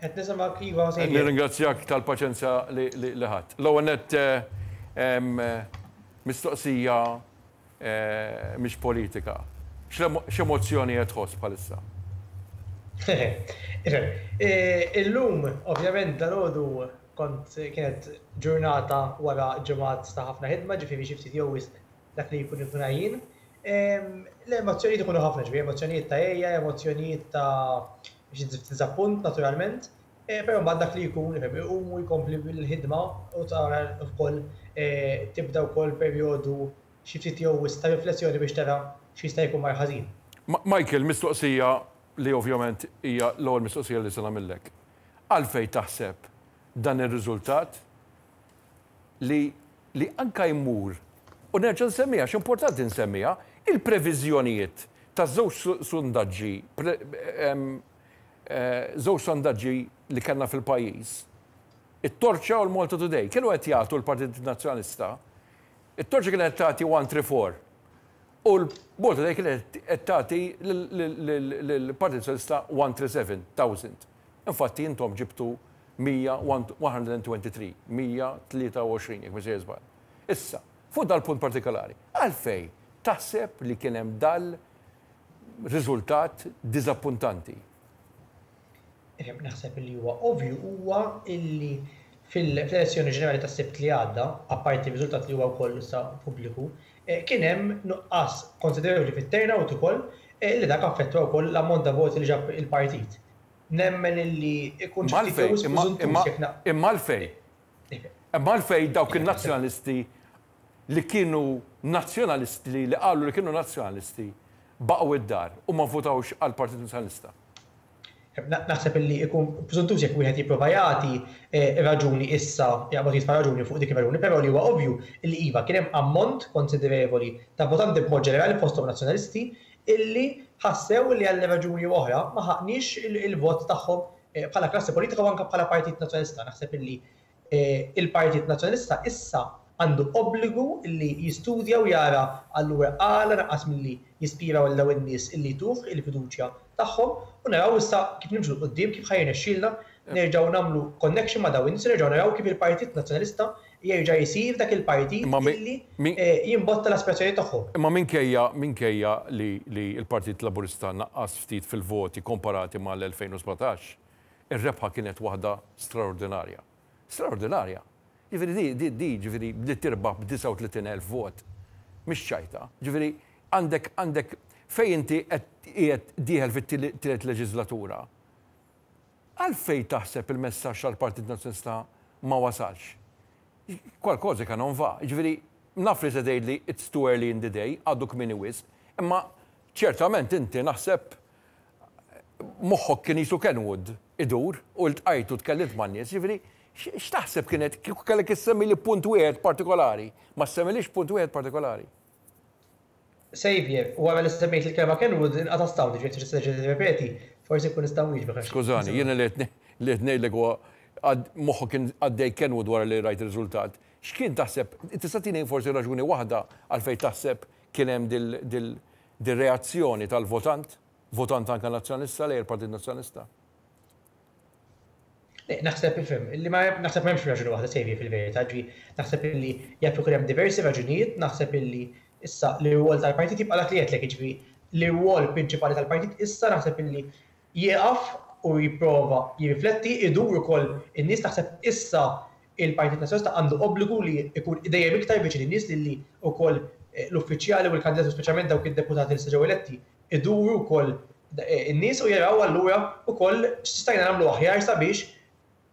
Qed nisimgħek iva Xavier. Nirringrazzjak tal-paċenzja li ħadt. L-ewwel nett mistoqsija mhix politika. X'emozzjoni qed tħoss bħalissa? Ifhem, illum ovvjament dalgħodu kont kienet ġurnata wara ġimgħat ta' ħafna ħidma, ġifieri xi ftit jew wisq dak li jkun ikun għajjien. L-emozzjonijiet ikunu ħafna, ġifieri emozzjonijiet ta' għejja, emozzjonijiet ta' xi diżappunt naturalment, però mbagħad dak li jkun ifhem iqum u jkompli bil-ħidma u tara wkoll tibda wkoll perjodu xi ftit jew wisq ta' riflessjoni biex tara x'jista' jkun mar ħażin. Michael, mistoqsija li ovvjament hija l-ewwel mistoqsija li se nagħmillek. Għalfejn taħseb dan ir-riżultat li li anke jmur, u nerġa' nsemmiha għax importanti nsemmiha, il-previżjonijiet ta' żewġ sondaġġi żewġ sondaġġi li kellna fil-pajjiż, it-Torċa u l-Malta Today, kienu qed jagħtu l-Partit Nazzjonalista, it-Torċa kienet qed tagħti 134 u l-Malta Today kienet qed tagħti lill-Partit Nazzjonalista 137,000. Infatti intom ġibtu 123, 123 jekk mhux sejjer żball. Issa, fuq dal-punt partikolari, għalfejn taħseb li kien hemm dal riżultat diżappuntanti? Ifhem, naħseb li huwa ovvju huwa illi fil-elezzjoni ġenerali tas-Sibt li għadda, apparti r-riżultat li huwa wkoll issa pubbliku, kien hemm nuqqas konsiderevoli fit-turnout ukoll li dak affettwa wkoll l-ammont ta' voti li ġab il-partit. Nemmen illi ikun xi ftit jew wisq preżuntuż jekk na. Imma għalfejn? Imma għalfejn dawk in-Nazzjonalisti li kienu Nazzjonalisti li qalu li kienu Nazzjonalisti baqgħu id-dar u ma vvutawx għall-Partit Nazzjonalista? Naħseb illi ikun preżuntuż jekk wieħed jipprova jagħti raġuni issa, jaqbad jitfa' raġuni fuq dik ir-raġuni, però li huwa ovvju illi iva kien hemm ammont konsiderevoli ta' votanti b'mod ġenerali fosthom Nazzjonalisti illi ħassew illi għal raġuni jew oħra ma ħaqniex il-vot tagħhom bħala klassi politika u anke bħala Partit Nazzjonalista. Naħseb illi Il-Partit Nazzjonalista issa għandu obbligu li jistudja u jara allura għala naqas milli jispira lil dawn in-nies illi jtuh il-fiduċja tagħhom u naraw issa kif nimxu 'l quddiem kif ħa jirnexxielna nerġgħu nagħmlu connection ma' dawn in-nies u nerġgħu naraw kif il-Partit Nazzjonalista jerġa' jsir dak il-partit illi jimbotta l-aspirazzjonijiet tagħhom. Imma minkejja minkejja li li l-Partit Laburista naqqas ftit fil-voti komparati mal-2017, Ir-rebħa kienet waħda straordinarja. Straordinarja! Jiġifieri di, di, di, jiġifieri li tirbaħ b'39,000 vot, mhix ċajta. Jiġifieri għandek, għandek fejn inti qed qiegħed dieħel fit-tielet leġiżlatura. Għalfejn taħseb il-messaġġ tal-Partit Nazzjonalista ma wasalx? Qualcosa che non va. Jiġifieri naf li se tgħidli it's too early in the day, għadu kmieni wisq, imma ċertament inti naħseb moħħok kien qisu Kenwood idur u ltqajt u tkellimt man-nies, jiġifieri x'taħseb kienet kieku kellek issemmili punt wieħed partikolari, ma ssemmilix punt wieħed partikolari. Xavier, wara li semmejt il-kelma Kenwood inqata' s-sound, jiġifieri tista' terġa' tirrepeti, forsi nkun nista' nwieġbek għax. Skużani, jiena li qed li qed ngħidlek huwa moħħok kien għaddej Kenwood wara li rajt ir-riżultat. X'kien taħseb, tista' tini forsi raġuni waħda għalfejn taħseb kien hemm dil dir-reazzjoni tal-votant, votant anke Nazzjonalista lejn il-Partit Nazzjonalista? Le, naħseb ifhem, li ma naħseb m'hemmx raġuni waħda Xavier fil-verità, ġi naħseb illi jaf ikun hemm diversi raġunijiet, naħseb illi issa l-irwol tal-partit jibqa' dak li għedtlek, jiġifieri l-irwol prinċipali tal-partit issa naħseb illi jieqaf u jipprova jirrifletti, idur ukoll in-nies, naħseb issa il-Partit Nazzjonalista għandu obbligu li jkun dejjem iktar viċin in-nies li wkoll l-uffiċjali u l-kandidati u speċjalment dawk id-deputati li se ġew eletti iduru wkoll in-nies u jaraw allura wkoll x'stajna nagħmlu aħjar sabiex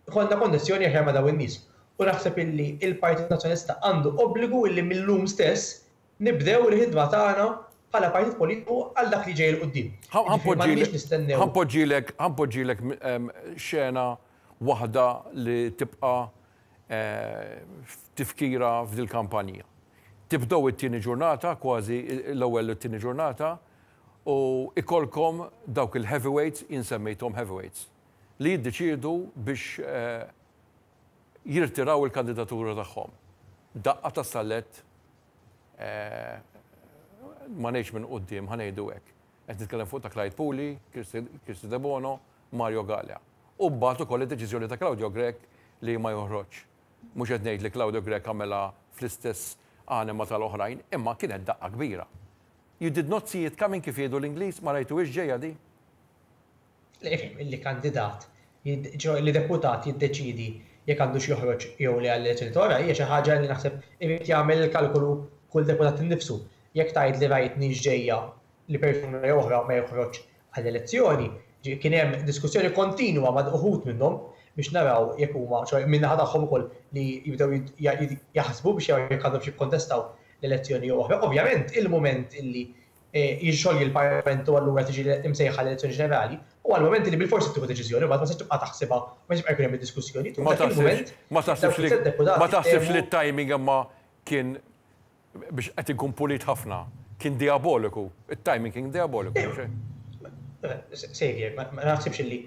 ikollna konnessjoni aħjar ma' dawn in-nies. U naħseb illi l-Partit Nazzjonalista għandu obbligu illi mil-lum stess nibdew il-ħidma tagħna bħala partit politiku għal dak li ġej 'il quddiem. Jiġifieri m'għandniex nistennew. Ħa npoġġilek, ħa npoġġilek xena waħda li tibqa' f'tifkira f'dil-kampanja. Tibdew it-tieni ġurnata, kważi l-ewwel u t-tieni ġurnata, u ikollkom dawk il-heavyweights, jien semmejthom heavyweights, li jiddeċiedu biex jirtiraw il-kandidatura tagħhom. Daqqa ta' sallett ma ngħidx minn quddiem, ħa ngħidu hekk. Qed nitkellem fuq ta' Clyde Puli, Kristy Debono, Mario Galea. U mbagħad ukoll id-deċiżjoni ta' Claudio Grech li ma joħroġx. Mhux qed ngħid li Claudio Grech għamilha fl-istess anima tal-oħrajn, imma kienet daqqa kbira. You did not see it coming kif jgħidu l-Ingliż, ma rajtuhiex ġejja di? Le, ifhem, illi kandidat, li deputat jiddeċiedi jekk għandux joħroġ jew le għall-elezzjoni ta' wara hija xi ħaġa li naħseb irid jagħmel il-kalkolu kull deputat innifsu. Jekk tgħid li rajtni x'ġejja li persuna jew oħra ma joħroġx għall-elezzjoni, kien hemm diskussjoni kontinwa ma' uħud minnhom biex naraw jekk huma, ċoe min-naħa tagħhom ukoll li jibdew jaħsbu biex jaraw jekk għandhomx jikkontestaw l-elezzjoni jew oħra. Ovvjament il-mument illi jixxolji l-Parlament u allura tiġi msejħa l-elezzjoni ġenerali, huwa l-mument li bilfors trid tieħu deċiżjoni u mbagħad ma tistax tibqa' taħsibha u ma jistax jibqa' jkun hemm id-diskussjoni. Ma taħsibx ma taħsibx li ma taħsibx li t-timing imma kien biex qed inkun pulit ħafna, kien dijaboliku. It-timing kien dijaboliku, mhux hekk? Xavier, ma naħsibx illi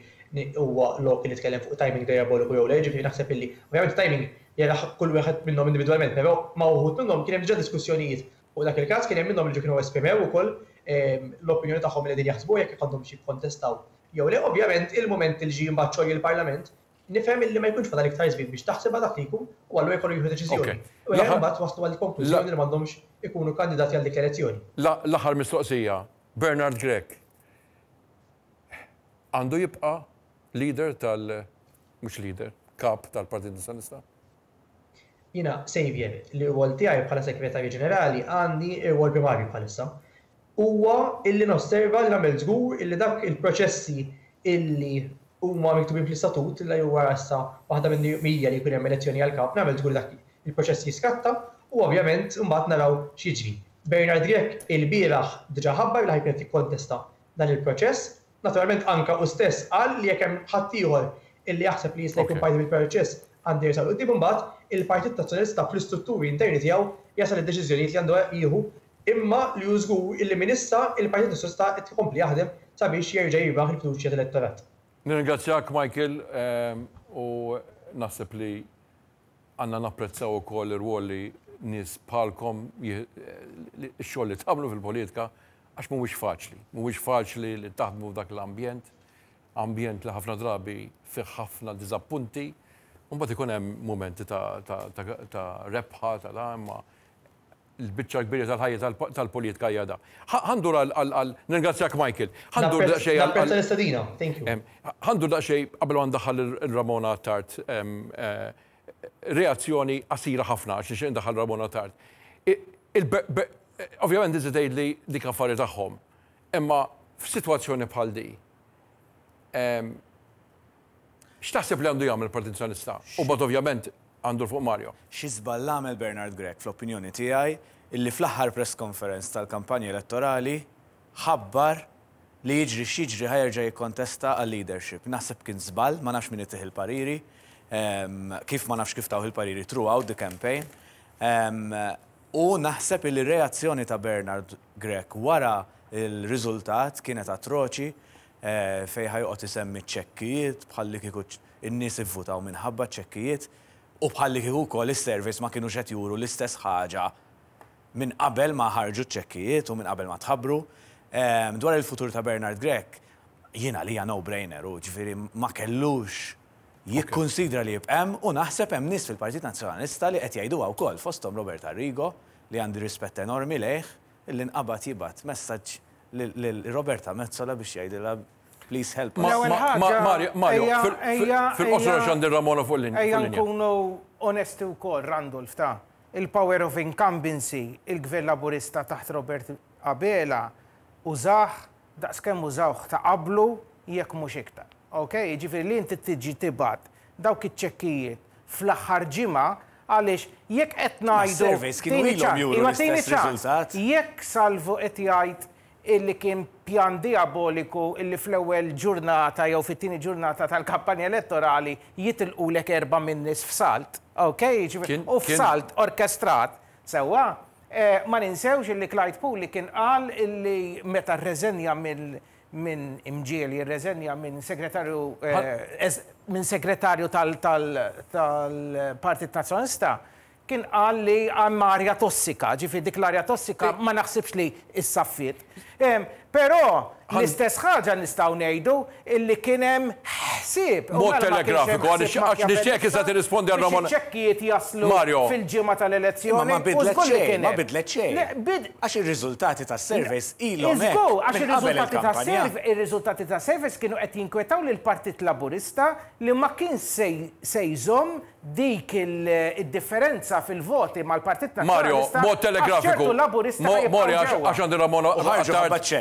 huwa lok li nitkellem fuq timing dijaboliku jew le, jiġifieri naħseb illi ovvjament it-timing jarah kull wieħed minnhom individwalment, però ma' uħud minnhom kien hemm diġà diskussjonijiet Fuq dak il-każ kien hemm minnhom li ġa kienu esprimew ukoll l-opinjoni tagħhom li qegħdin jaħsbu jekk għandhomx jikkontestaw jew le. Ovvjament il-mument li ġie imbagħad xogħol il-Parlament nifhem illi ma jkunx fadal iktar żmien biex taħsibha dak li jkun u allura jkollu jieħu deċiżjoni. U hemm imbagħad waslu għall-konklużjoni li m'għandhomx ikunu kandidati għal dik l-elezzjoni. L-aħħar mistoqsija, Bernard Grech għandu jibqa' leader tal-, mhux leader, kap tal-Partit Nazzjonalista? Jiena, Xavier, l-irwol tiegħi bħala Segretarju Ġenerali għandi irwol primarju bħalissa. Huwa illi nosserva li nagħmel żgur illi dak il-proċessi illi huma miktubin fl-istatut li huwa issa waħda minn hija li jkun hemm elezzjoni għall-kap, nagħmel żgur li dak il-proċess jiskatta. u ovvjament imbagħad naraw x'jiġri. Bernard Grech ilbieraħ diġà ħabbar li ħa jkun qed jikkontesta dan il-proċess. Naturalment anke hu stess qal li jekk hemm ħaddieħor illi jaħseb li jista' jkun parti mill-proċess għandu jersaq 'l quddiem imbagħad il-Partit Nazzjonalista fl-istrutturi interni tiegħu jasal id-deċiżjonijiet li għandu jieħu imma li hu żgur illi minn issa il-Partit Nazzjonalista qed ikompli jaħdem sabiex jerġa' jirbaħ il-fiduċja tal-elettorat. Nirringrazzjak Michael u naħseb li għandna napprezzaw ukoll ir-rwol li nies bħalkom x-xogħol li tagħmlu fil-politika għax mhuwiex faċli. Mhuwiex faċli li taħdmu f'dak l-ambjent, ambjent li ħafna drabi fih ħafna diżappunti, u mbagħad ikun hemm mumenti ta' rebħa ta' da imma l-biċċa kbira tal-ħajja tal-politika hija da. Ħandur għal nirringrazzjak Michael. Ħandur daqsxejn għal. Napprezza l-istedina, thank you. Ħandur daqsxejn qabel ma ndaħħal il-Ramona Attard reazzjoni qasira ħafna għax nixtieq ndaħħal Ramona Attard. Ovvjament inti tgħidli dik affari tagħhom. Imma f'sitwazzjoni bħal di, x'taħseb li għandu jagħmel il-Partit Nazzjonalista? U mbagħad ovvjament għandu fuq Mario. Xi żball għamel Bernard Grech fl-opinjoni tiegħi illi fl-aħħar press conference tal-kampanja elettorali ħabbar li jiġri x'jiġri ħa jerġa' jikkontesta għal-leadership. Naħseb kien żball, ma nafx min itih il-pariri, kif ma nafx kif tawh il-pariri throughout the campaign. U naħseb illi r-reazzjoni ta' Bernard Grech wara l-riżultat kienet atroċi fejn ħa joqgħod isemmi ċ-ċekkijiet bħallikieku in-nies ivvutaw minħabba ċ-ċekkijiet u bħallikieku wkoll is-surveys ma kinux qed juru l-istess ħaġa minn qabel ma ħarġu ċ-ċekkijiet u minn qabel ma tħabbru. Dwar il-futur ta' Bernard Grech, jien għalija no-brainer hu, ġifieri ma kellux jikkunsidra li jibqa' hemm u naħseb hemm nies fil-Partit Nazzjonalista li qed jgħiduha wkoll, fosthom Robert Arrigo li għandi rispett enormi lejh, illi nqabad jibgħat messaġġ lil Roberta Metsola biex jgħidilha please help us. L-ewwel ħaġa. Mario, fil-qosor għax għandi Ramona fuq il-linja. Ejja nkunu onesti wkoll, Randolph, ta' il-power of incumbency, il-Gvern Laburista taħt Robert Abela użah daqskemm użawh ta' qablu jekk mhux iktar. Ok? Jiġifieri li inti tiġi tibgħat dawk iċ-ċekkijiet fl-aħħar ġimgħa għaliex jekk qed ngħidu. Is-surveys kienu ilhom juru l-istess riżultat. Jekk Salvu qed jgħid illi kien pjan dijaboliku illi fl-ewwel ġurnata jew fit-tieni ġurnata tal-kampanja elettorali jitilqulek erbgħa min-nies f'salt, ok? Jiġifieri u f'salt orkestrat, sewwa? Ma ninsewx illi Clyde Puli kien qal illi meta rreżenja mill minn imġiegħel jirreżenja minn segretarju minn segretarju tal-Partit Nazzjonalista kien qal li hemm arja tossika, ġifieri dik l-arja tossika ma naħsibx li issaffiet. Però l-istess ħaġa nistgħu ngħidu illi kien hemm ħsieb. Mod telegrafiku, għax nixtieq issa tirrispondi għal Ramona. Biex iċ-ċekkijiet jaslu fil-ġimgħa tal-elezzjoni. Ma bidlet xejn, ma bidlet xejn. Għax ir-riżultati tas-surveys ilhom hekk. Żgur, għax ir-riżultati tas-surveys kienu qed jinkwetaw lill-Partit Laburista li ma kienx se jżomm dik id-differenza fil-voti mal-Partit Nazzjonalista. Mario, mod telegrafiku. Għax ċertu Laburisti ħa jibqgħu ġewwa. Għax għandi Ramona Attard,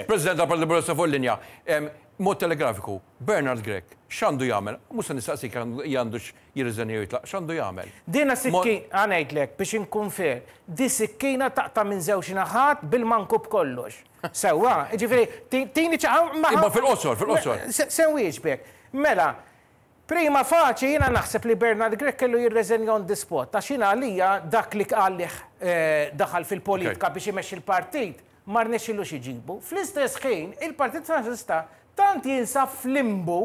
President tal-Partit Laburista fuq il-linja. Mod telegrafiku, Bernard Grech, x'għandu jagħmel? Mhux se nistaqsik għandux jirriżenja jew jitlaq, x'għandu jagħmel? Dina sikkina, ħa ngħidlek biex inkun fair, di sikkina taqta' minn żewġ naħat bil-manku b'kollox. Sewwa, jiġifieri tini Imma fil-qosor, fil-qosor. Se nwieġbek. Mela, Prima facie jiena naħseb li Bernard Grech kellu jirreżenja on the spot għax jiena għalija dak li għalih daħal fil-politika biex imexxi l-partit ma rnexxilux iġibu. Fl-istess ħin il-Partit Nazzjonalista tant jinsab f'limbu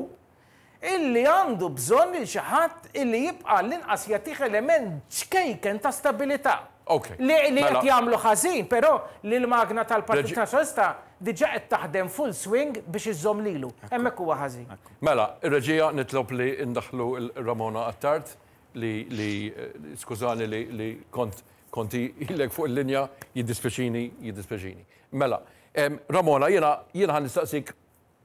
illi għandu bżonn lil xi ħadd illi jibqa' għall-inqas jagħtih element ċkejken ta' stabilità. Li qed jagħmlu ħażin però li l-magna tal-Partit Nazzjonalista diġà qed taħdem full swing biex iżżomm lilu. Hemmhekk huwa ħażin. Mela, ir-reġija nitlob li ndaħħlu l-Ramona Attard li li skużani li li kont kont ilek fuq il-linja jiddispjaċini jiddispjaċini. Mela, Ramona jiena jiena ħa nistaqsik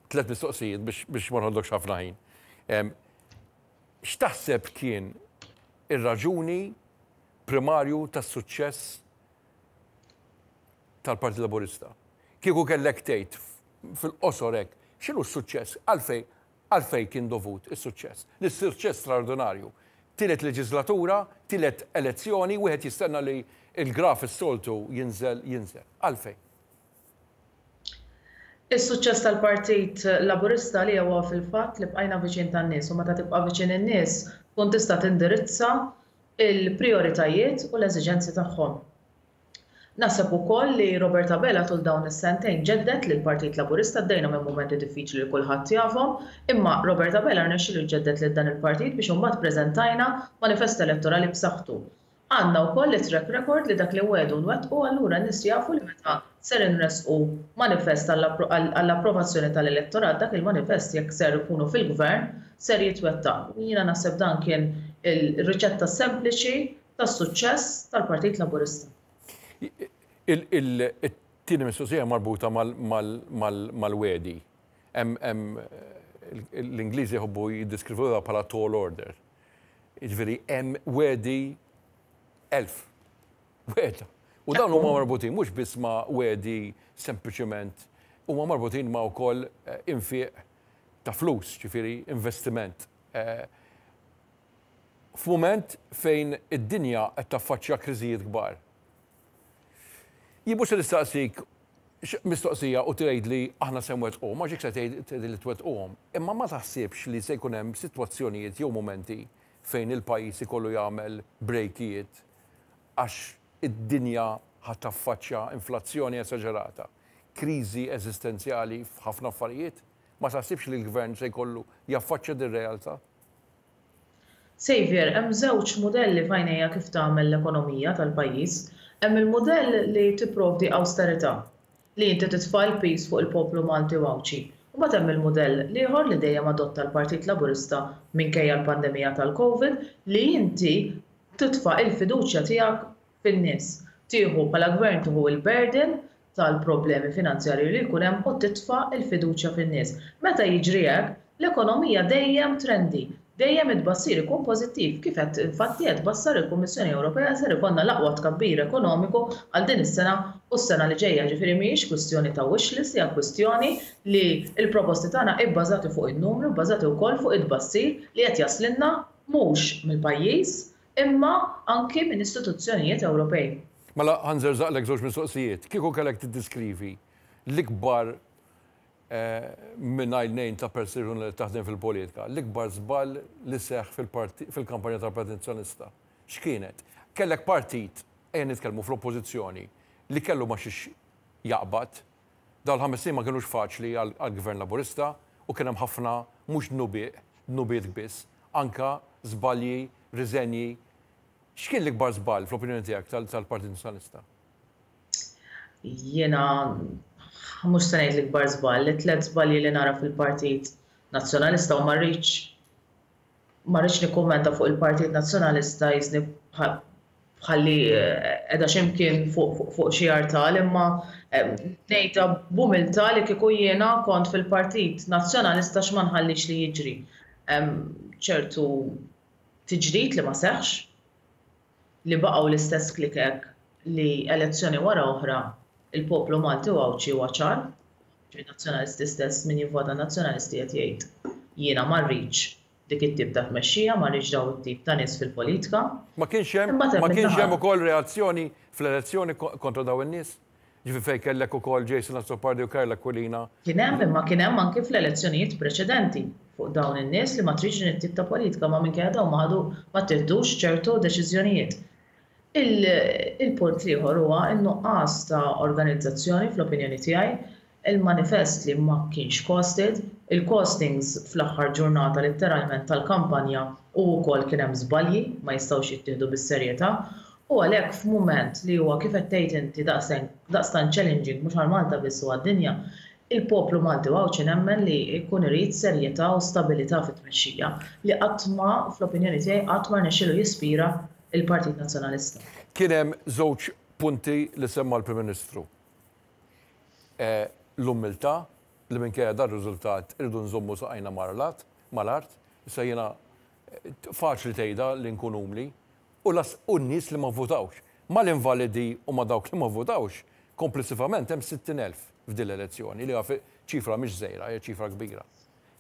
tlett mistoqsijiet biex biex ma noħodlokx ħafna ħin. X'taħseb kien ir-raġuni primarju tas-suċċess tal-Partit Laburista? Kieku kellek tgħid fil-qosor hekk, x'inhu s-suċċess? Għalfejn għalfejn kien dovut is-suċċess? Lis-suċċess straordinarju. Tielet leġiżlatura, tielet elezzjoni, wieħed jistenna li Il-graf is-soltu jinżel jinżel. Għalfejn? Is-suċċess tal-Partit Laburista għalija huwa fil-fatt li bqajna viċin tan-nies u meta tibqa' viċin in-nies tkun tista' tindirizza l-prijoritajiet u l-eżiġenzi tagħhom. Naħseb ukoll li Robert Abela tul dawn is-sentejn ġedded lill-Partit Laburista, għaddejna minn mumenti diffiċli li kulħadd jafhom, imma Robert Abela rnexxielu jġedded lil dan il-partit biex imbagħad preżentajna manifest elettorali b'saħħtu. Għandna wkoll it-track record li dak li nwegħdu nwettqu allura n-nies jafu li meta ser inressqu manifest għall-approvazzjoni tal-elettorat dak il-manifest jekk ser ikunu fil-gvern ser jitwettaq. U jiena naħseb dan kien ir-riċetta sempliċi tas-suċċess tal-Partit Laburista. It-tieni mistoqsija marbuta mal-wegħdi. L-Ingliżi jħobbu jiddeskrivuha bħala tall order. Jiġifieri hemm wegħdi 1000 wegħda. U dawn huma marbutin mhux biss ma' wegħdi sempliċement, huma marbutin ma' wkoll eh, infiq ta' flus, ġifieri investiment. Eh, f'mument fejn id-dinja qed taffaċċja kriżijiet kbar. Jien mhux se nistaqsik mistoqsija u tgħidli aħna se nwettquhom, għax jekk se tgħidli li twettquhom. Imma ma taħsibx li se jkun hemm sitwazzjonijiet jew mumenti fejn il-pajjiż ikollu jagħmel brejkijiet għax id-dinja ħa taffaċċja inflazzjoni esaġerata, kriżi eżistenzjali f'ħafna affarijiet? Ma taħsibx li l-Gvern se jkollu jaffaċċja dir-realtà? Saviour, hemm żewġ mudelli f'għajnejja kif tagħmel l-ekonomija tal-pajjiż. Hemm il-mudell li tipprovdi awsterità, li inti titfa' l-piż fuq il-poplu Malti u Għawdxi. U mbagħad hemm il-mudell l-ieħor li dejjem adotta l-Partit Laburista minkejja l-pandemija tal-Covid, li inti titfa' il-fiduċja tiegħek fin-nies. Tieħu bħala gvern tieħu l-burden tal-problemi finanzjarji li jkun hemm u titfa' l-fiduċja fin-nies. Meta jiġri hekk, l-ekonomija dejjem trendi, dejjem it-tbassir ikun pożittiv, kif qed infatti qed tbassar il-Kummissjoni Ewropea ser ikollna l-aqwa tkabbir ekonomiku għal din is-sena u s-sena li ġejja. Ġifieri mhijiex kwistjoni ta' wish list, hija kwistjoni li l-proposti tagħna ibbażati fuq in-numri u bbażati wkoll fuq it-tbassir li qed jaslilna mhux mill-pajjiż, imma anki minn istituzzjonijiet Ewropej. Mela ħa nżerżaqlek żewġ mistoqsijiet. Kieku kellek tiddiskrivi l-ikbar mingħajr nejn ta' persuna li taħdem fil-politika, l-ikbar żball li seħħ fil-kampanja tal-Partit Nazzjonalista, x'kienet? Kellek partit, ejja nitkellmu fl-Oppożizzjoni, li kellu ma' xiex jaqbad. Dawn l-ħames snin ma kinux faċli għall-Gvern Laburista u kien hemm ħafna mhux dnubiet, dnubiet biss, anke żbalji, riżenji. X'kien l-ikbar żball fl-opinjoni tiegħek tal-Partit Nazzjonalista? Jiena mhux se ngħid l-ikbar żball, it-tliet żbalji li nara fil-Partit Nazzjonalista u ma rridx Ma rridx nikkummenta fuq il-Partit Nazzjonalista jisni bħalli qiegħda xi mkien fuq xi artal imma ngħidha b'umiltà li kieku jiena kont fil-Partit Nazzjonalista x'ma nħallix li jiġri. Ċertu tiġdid li ma seħħx, li baqgħu l-istess klikek li elezzjoni wara oħra il-poplu Malti u Għawdxi huwa ċar, ġifieri Nazzjonalisti stess min jivvota Nazzjonalisti qed jgħid jiena ma rridx dik it-tip ta' tmexxija, ma rridx dawn it-tip ta' nies fil-politika. Ma kienx hemm ma kienx hemm ukoll reazzjoni fl-elezzjoni kontra dawn in-nies? Ġifieri fejn kellek ukoll Jason Azzopardi u Karl Aquilina. Kien hemm, imma kien hemm anki fl-elezzjonijiet preċedenti fuq dawn in-nies li ma tridx din it-tip ta' politika ma minkejja dawn ma ħadu ma ttieħdux ċertu deċiżjonijiet. Il-punt l-ieħor huwa n-nuqqas ta' organizzazzjoni fl-opinjoni tiegħi, il-manifest li ma kienx costed, il-costings fl-aħħar ġurnata litteralment tal-kampanja u wkoll kien hemm żbalji ma jistgħux jittieħdu bis-serjetà U għalhekk f'mument li huwa kif qed tgħid inti daqstant challenging mhux għal Malta biss u għad-dinja, il-poplu Malti u Għawdxi nemmen li jkun irid serjetà u stabilità fit-tmexxija li qatt ma, fl-opinjoni tiegħi, qatt ma rnexxielu jispira l-Partit Nazzjonalista. Kien hemm żewġ punti li semma l-Prim Ministru. L-umiltà li minkejja dar-riżultat irridu nżommu saqajna mal-art. Issa jiena faċli tgħidha li nkun umli, u las u n-nies li ma vvutawx. Mal-invalidi u ma' dawk li ma vvutawx, komplessivament hemm 60,000 f'din l-elezzjoni, li hija ċifra mhix żgħira, hija ċifra kbira.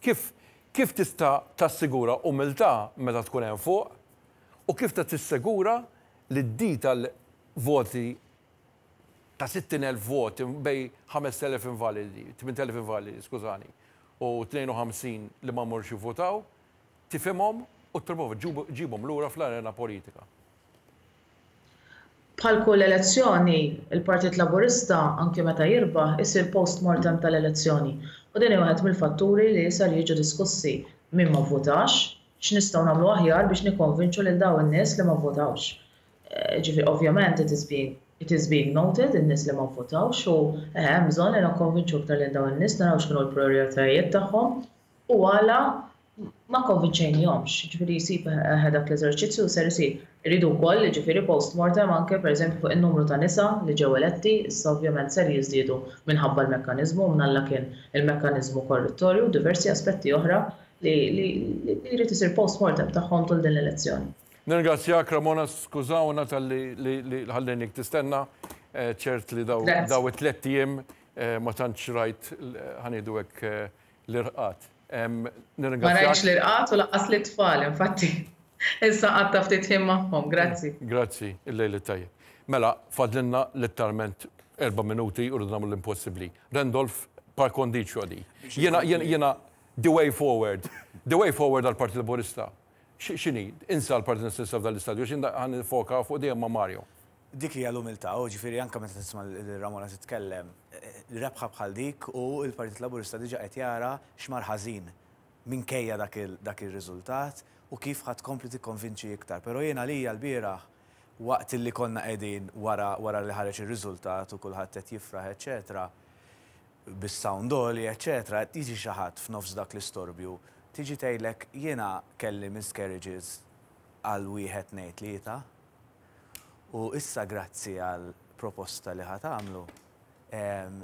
Kif kif tista' tassigura umiltà meta tkun hemm fuq u kif ta' tissegura li d-dita voti ta' 60,000 vot bejn 5,000 invalidi, 8,000 invalidi, skużani, u 52 li ma morx jivvotaw, tifhimhom u tipprova ġġibhom lura fl-arena politika. Bħal kull elezzjoni, il-Partit Laburista, anki meta jirbaħ, isir post-mortem tal-elezzjoni. U din hi wieħed mill-fatturi li ser jiġu diskussi. Min ma vvutax, x'nistgħu nagħmlu aħjar biex nikkonvinċu lil dawn in-nies li ma vvutawx. Ġifieri ovvjament it is being it is being noted in-nies li ma vvutawx u eħe hemm bżonn li nikkonvinċu iktar lil dawn in-nies naraw x'kienu l-prijoritajiet tagħhom u għala ma kkonvinċejnihomx. Jiġifieri jsib eħe dak l-eżerċizzju ser isir. Irridu wkoll jiġifieri post-mortem anke pereżempju fuq in-numru ta' nisa li ġew eletti, issa ovvjament ser jiżdiedu minħabba l-mekkaniżmu u mnalla kien il-mekkaniżmu korrittorju u diversi aspetti oħra li li jrid isir post-mortem tagħhom tul din l-elezzjoni. Nirringrazzjak Ramona, skużawna talli li ħallejnik tistenna, ċert li daw it-tlett ijiem ma tantx rajt ħa ngħidu hekk l-irqad. Ma rajtx l-irqad u lanqas lit-tfal, infatti issa qgħadt ftit ħin magħhom. Grazzi. Grazzi, il-lejl it-tajjeb. Mela, fadlilna letteralment erba' minuti u rridu nagħmlu l-impossibbli. Randolph, par condicio di. Jiena, jiena, the way forward, the way forward għall-Partit Laburista. X'inhi? Insa l-Partit Nazzjonalista f'dan l-istadju għax jien ħa nifoka fuq dejjem ma' Mario. Dik hija l-umiltà, u ġifieri anke meta tisma' lil Ramona titkellem, rebħa bħal dik u l-Partit Laburista diġà qed jara x'mar ħażin minkejja dak ir-riżultat u kif ħa tkompli tikkonvinċi iktar. Però jien għalija lbieraħ waqt li konna qegħdin wara wara li ħareġ ir-riżultat u kulħadd qed jifraħ eċċetera, bis-sound għoli eċċetera, jiġi xi ħadd f'nofs dak l-istorbju, tiġi tgħidlek jiena kelli miscarriages għal wieħed tnejn tlieta u issa grazzi għal proposta li ħa tagħmlu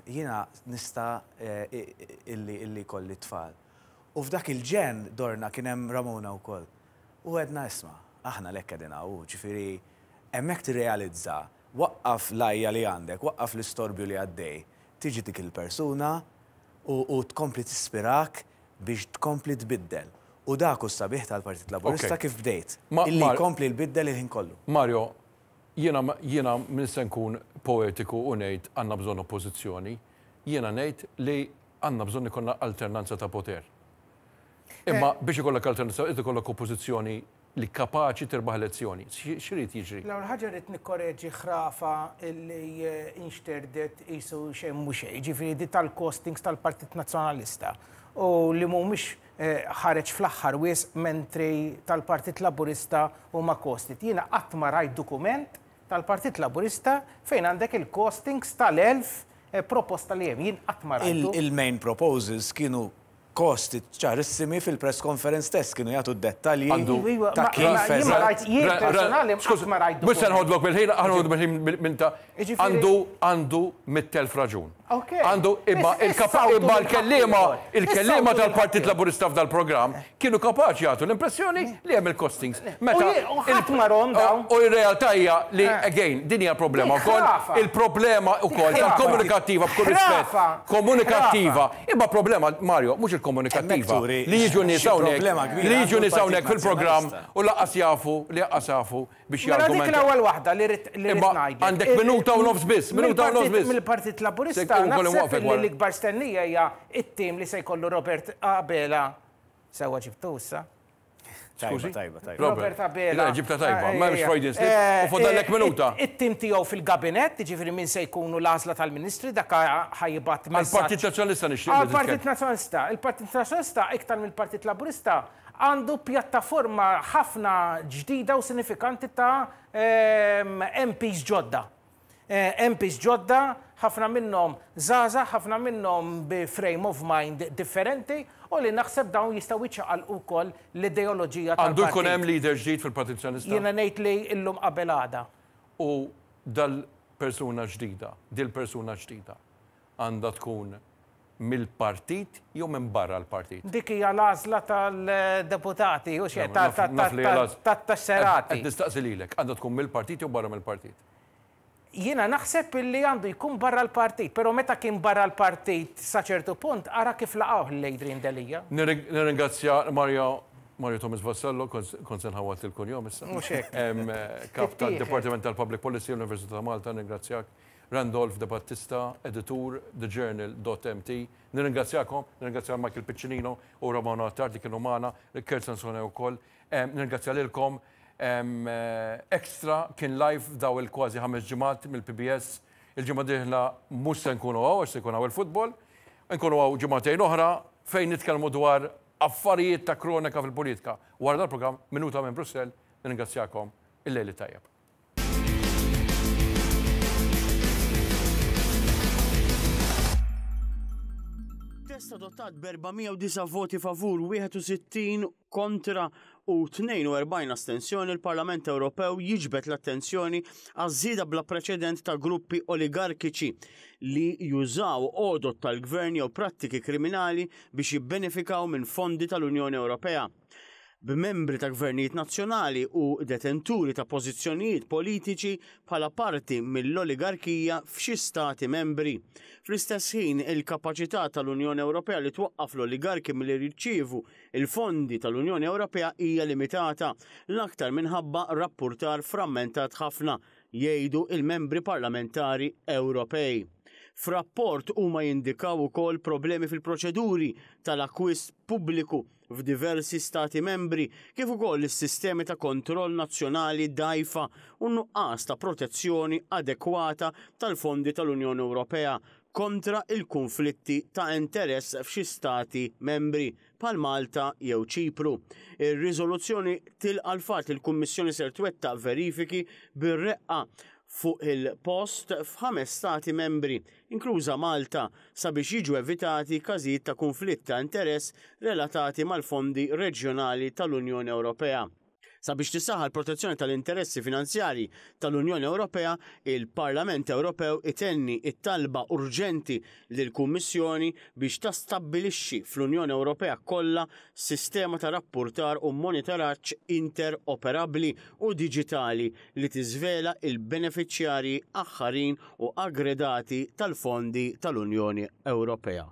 jiena nista' illi illi jkolli t-tfal. U f'dak il-ġenn dorna kien hemm Ramona wkoll u għedna isma' aħna għalhekk qegħdin hawn, ġifieri hemmhekk tirrealizza Waqqaf l-għajja li għandek, waqqaf l-istorbju li għaddej. Tiġi dik il-persuna u u tkompli tispirak biex tkompli tbiddel. U dak hu s-sabiħ tal-Partit Laburista kif bdejt, illi jkompli jbiddel il-ħin kollu. Mario, jiena jiena m'iniex se nkun poetiku u ngħid għandna bżonn oppożizzjoni. Jiena ngħid li għandna bżonn ikollna alternanza ta' poter. Imma biex ikollok alternanza irid ikollok oppożizzjoni li kapaċi tirbaħ elezzjoni. X'irid jiġri? L-ewwel ħaġa rrid nikkoreġi ħrafa li nxterdet qisu xejn mhu xejn, jiġifieri di tal-costings tal-Partit Nazzjonalista u li mhumiex ħareġ fl-aħħar wisq mentri tal-Partit Laburista huma costed. Jiena qatt ma rajt dokument tal-Partit Laburista fejn għandek il-costings tal-1000 proposta li hemm. Jien qatt ma rajtu. Il-main proposals kienu Kosti ċarissimi fil-press conference stess kienu jagħtu d-dettalji ta' kif eżatt. Jien personali qatt ma rajt. Mhux se nħodlok bil-ħin, aħna nħodu bil-ħin minn ta' għandu għandu 100,000 raġun. Għandu imma imma l-kelliema il-kelliema tal-Partit Laburista f'dal-programm kienu kapaċi jagħtu l-impressjoni li hemm il-costings. Meta ħadd ma rom dawn. U r-realtà hija li again din hija problema wkoll. Il-problema wkoll tal-komunikattiva b'kull rispett. Komunikattiva. Imma problema Mario mhux il-komunikattiva li jiġu nies hawnhekk li jiġu nies hawnhekk fil-programm u lanqas jafu li lanqas jafu biex jargumentaw. Mela dik l-ewwel waħda li rrid li rrid ngħidlek. Għandek minuta u nofs biss, minuta u nofs biss. Mill-Partit Laburista naħseb li l-ikbar stennija hija t-tim li se jkollu Robert Abela. Sewwa ġibtu issa? Tajba, tajba, tajba. Robert Abela. Le, ġibta tajba, ma hemmx Freudian slip. U fadallek minuta. It-tim tiegħu fil-gabinett, jiġifieri min se jkunu l-għażla tal-ministri, dak ħa jibgħat messaġġ. Għall-Partit Nazzjonalista nixtieq. Għall-Partit Nazzjonalista. Il-Partit Nazzjonalista iktar mill-Partit Laburista għandu pjattaforma ħafna ġdida u sinifikanti ta' MPs ġodda. MPs ġodda, ħafna minnhom żgħażagħ, ħafna minnhom bi frame of mind differenti u li naħseb dawn jistgħu jċaqalqu wkoll l-ideoloġija tal-partit. Għandu jkun hemm leader ġdid fil-Partit Nazzjonalista? Jiena ngħid li llum qabel għada. U dal-persuna ġdida, dil-persuna ġdida għandha tkun mill-partit jew minn barra l-partit? Dik hija l-għażla tal-deputati, hux hekk, tat-tesserati. Qed nistaqsi lilek, għandha tkun mill-partit jew barra mill-partit? Jiena naħseb illi għandu jkun barra l-partit, però meta kien barra l-partit sa ċertu punt ara kif laqgħuh lil Adrian Delia. Nirringrazzja Mario Mario Thomas Vassallo, kont se nħawwad il-kunjom issa. Mhux hekk. Kap tad-Dipartiment tal-Public Policy l-Università ta' Malta, nirringrazzjak. Randolph De Battista, editur, thejournal.mt. Nirringrazzjakom, nirringrazzja Michael Piccinino u Romano Attard li kienu magħna, Kurt Sansone wkoll. Nirringrazzja lilkom. Extra kien live daw il-kważi ħames ġimgħat mill-PBS. Il-ġimgħa dieħla mhux se nkunu hawn għax se jkun hawn il-futbol. Nkunu hawn ġimagħtejn oħra fejn nitkellmu dwar affarijiet ta' kronika fil-politika. Wara dal-programm Minuta minn Brussell, nirringrazzjakom il-lejl it-tajjeb. Test adottat b'409 voti favur, 61 kontra u 42 astensjoni, il-Parlament Ewropew jiġbed l-attenzjoni għaż-żieda bla preċedent ta' gruppi oligarkiċi li jużaw għodod tal-gvern jew prattiki kriminali biex jibbenefikaw minn fondi tal-Unjoni Ewropea. B'membri ta' gvernijiet nazzjonali u detenturi ta' pożizzjonijiet politiċi bħala parti mill-oligarkija f'xi stati membri. Fl-istess ħin, il-kapaċità tal-Unjoni Ewropea li twaqqaf l-oligarki milli jirċievu l-fondi tal-Unjoni Ewropea hija limitata, l-aktar minħabba rappurtar frammentat ħafna, jgħidu l-membri parlamentari Ewropej. F'rapport huma jindikaw ukoll problemi fil-proċeduri tal-akkwist pubbliku f'diversi Stati Membri, kif ukoll is-sistemi ta' kontroll nazzjonali dgħajfa u n-nuqqas ta' protezzjoni adekwata tal-fondi tal-Unjoni Ewropea kontra l-kunflitti ta' interess f'xi Stati Membri, bħal Malta jew Ċipru. Ir-riżoluzzjoni tilqa' l-fatt li l-Kummissjoni ser twettaq verifiki bir-reqqa fuq il-post f'ħames Stati Membri, inkluża Malta, sabiex jiġu evitati każijiet ta' kunflitt ta' interess relatati mal-fondi reġjonali tal-Unjoni Ewropea. Sabiex tissaħħa l-protezzjoni tal-interessi finanzjarji tal-Unjoni Ewropea, il-Parlament Ewropew itenni t-talba urġenti lill-Kummissjoni biex tastabbilixxi fl-Unjoni Ewropea kollha sistema ta' rappurtar u monitoraġġ interoperabbli u diġitali li tiżvela l-benefiċjarji aħħarin u aggredati tal-fondi tal-Unjoni Ewropea.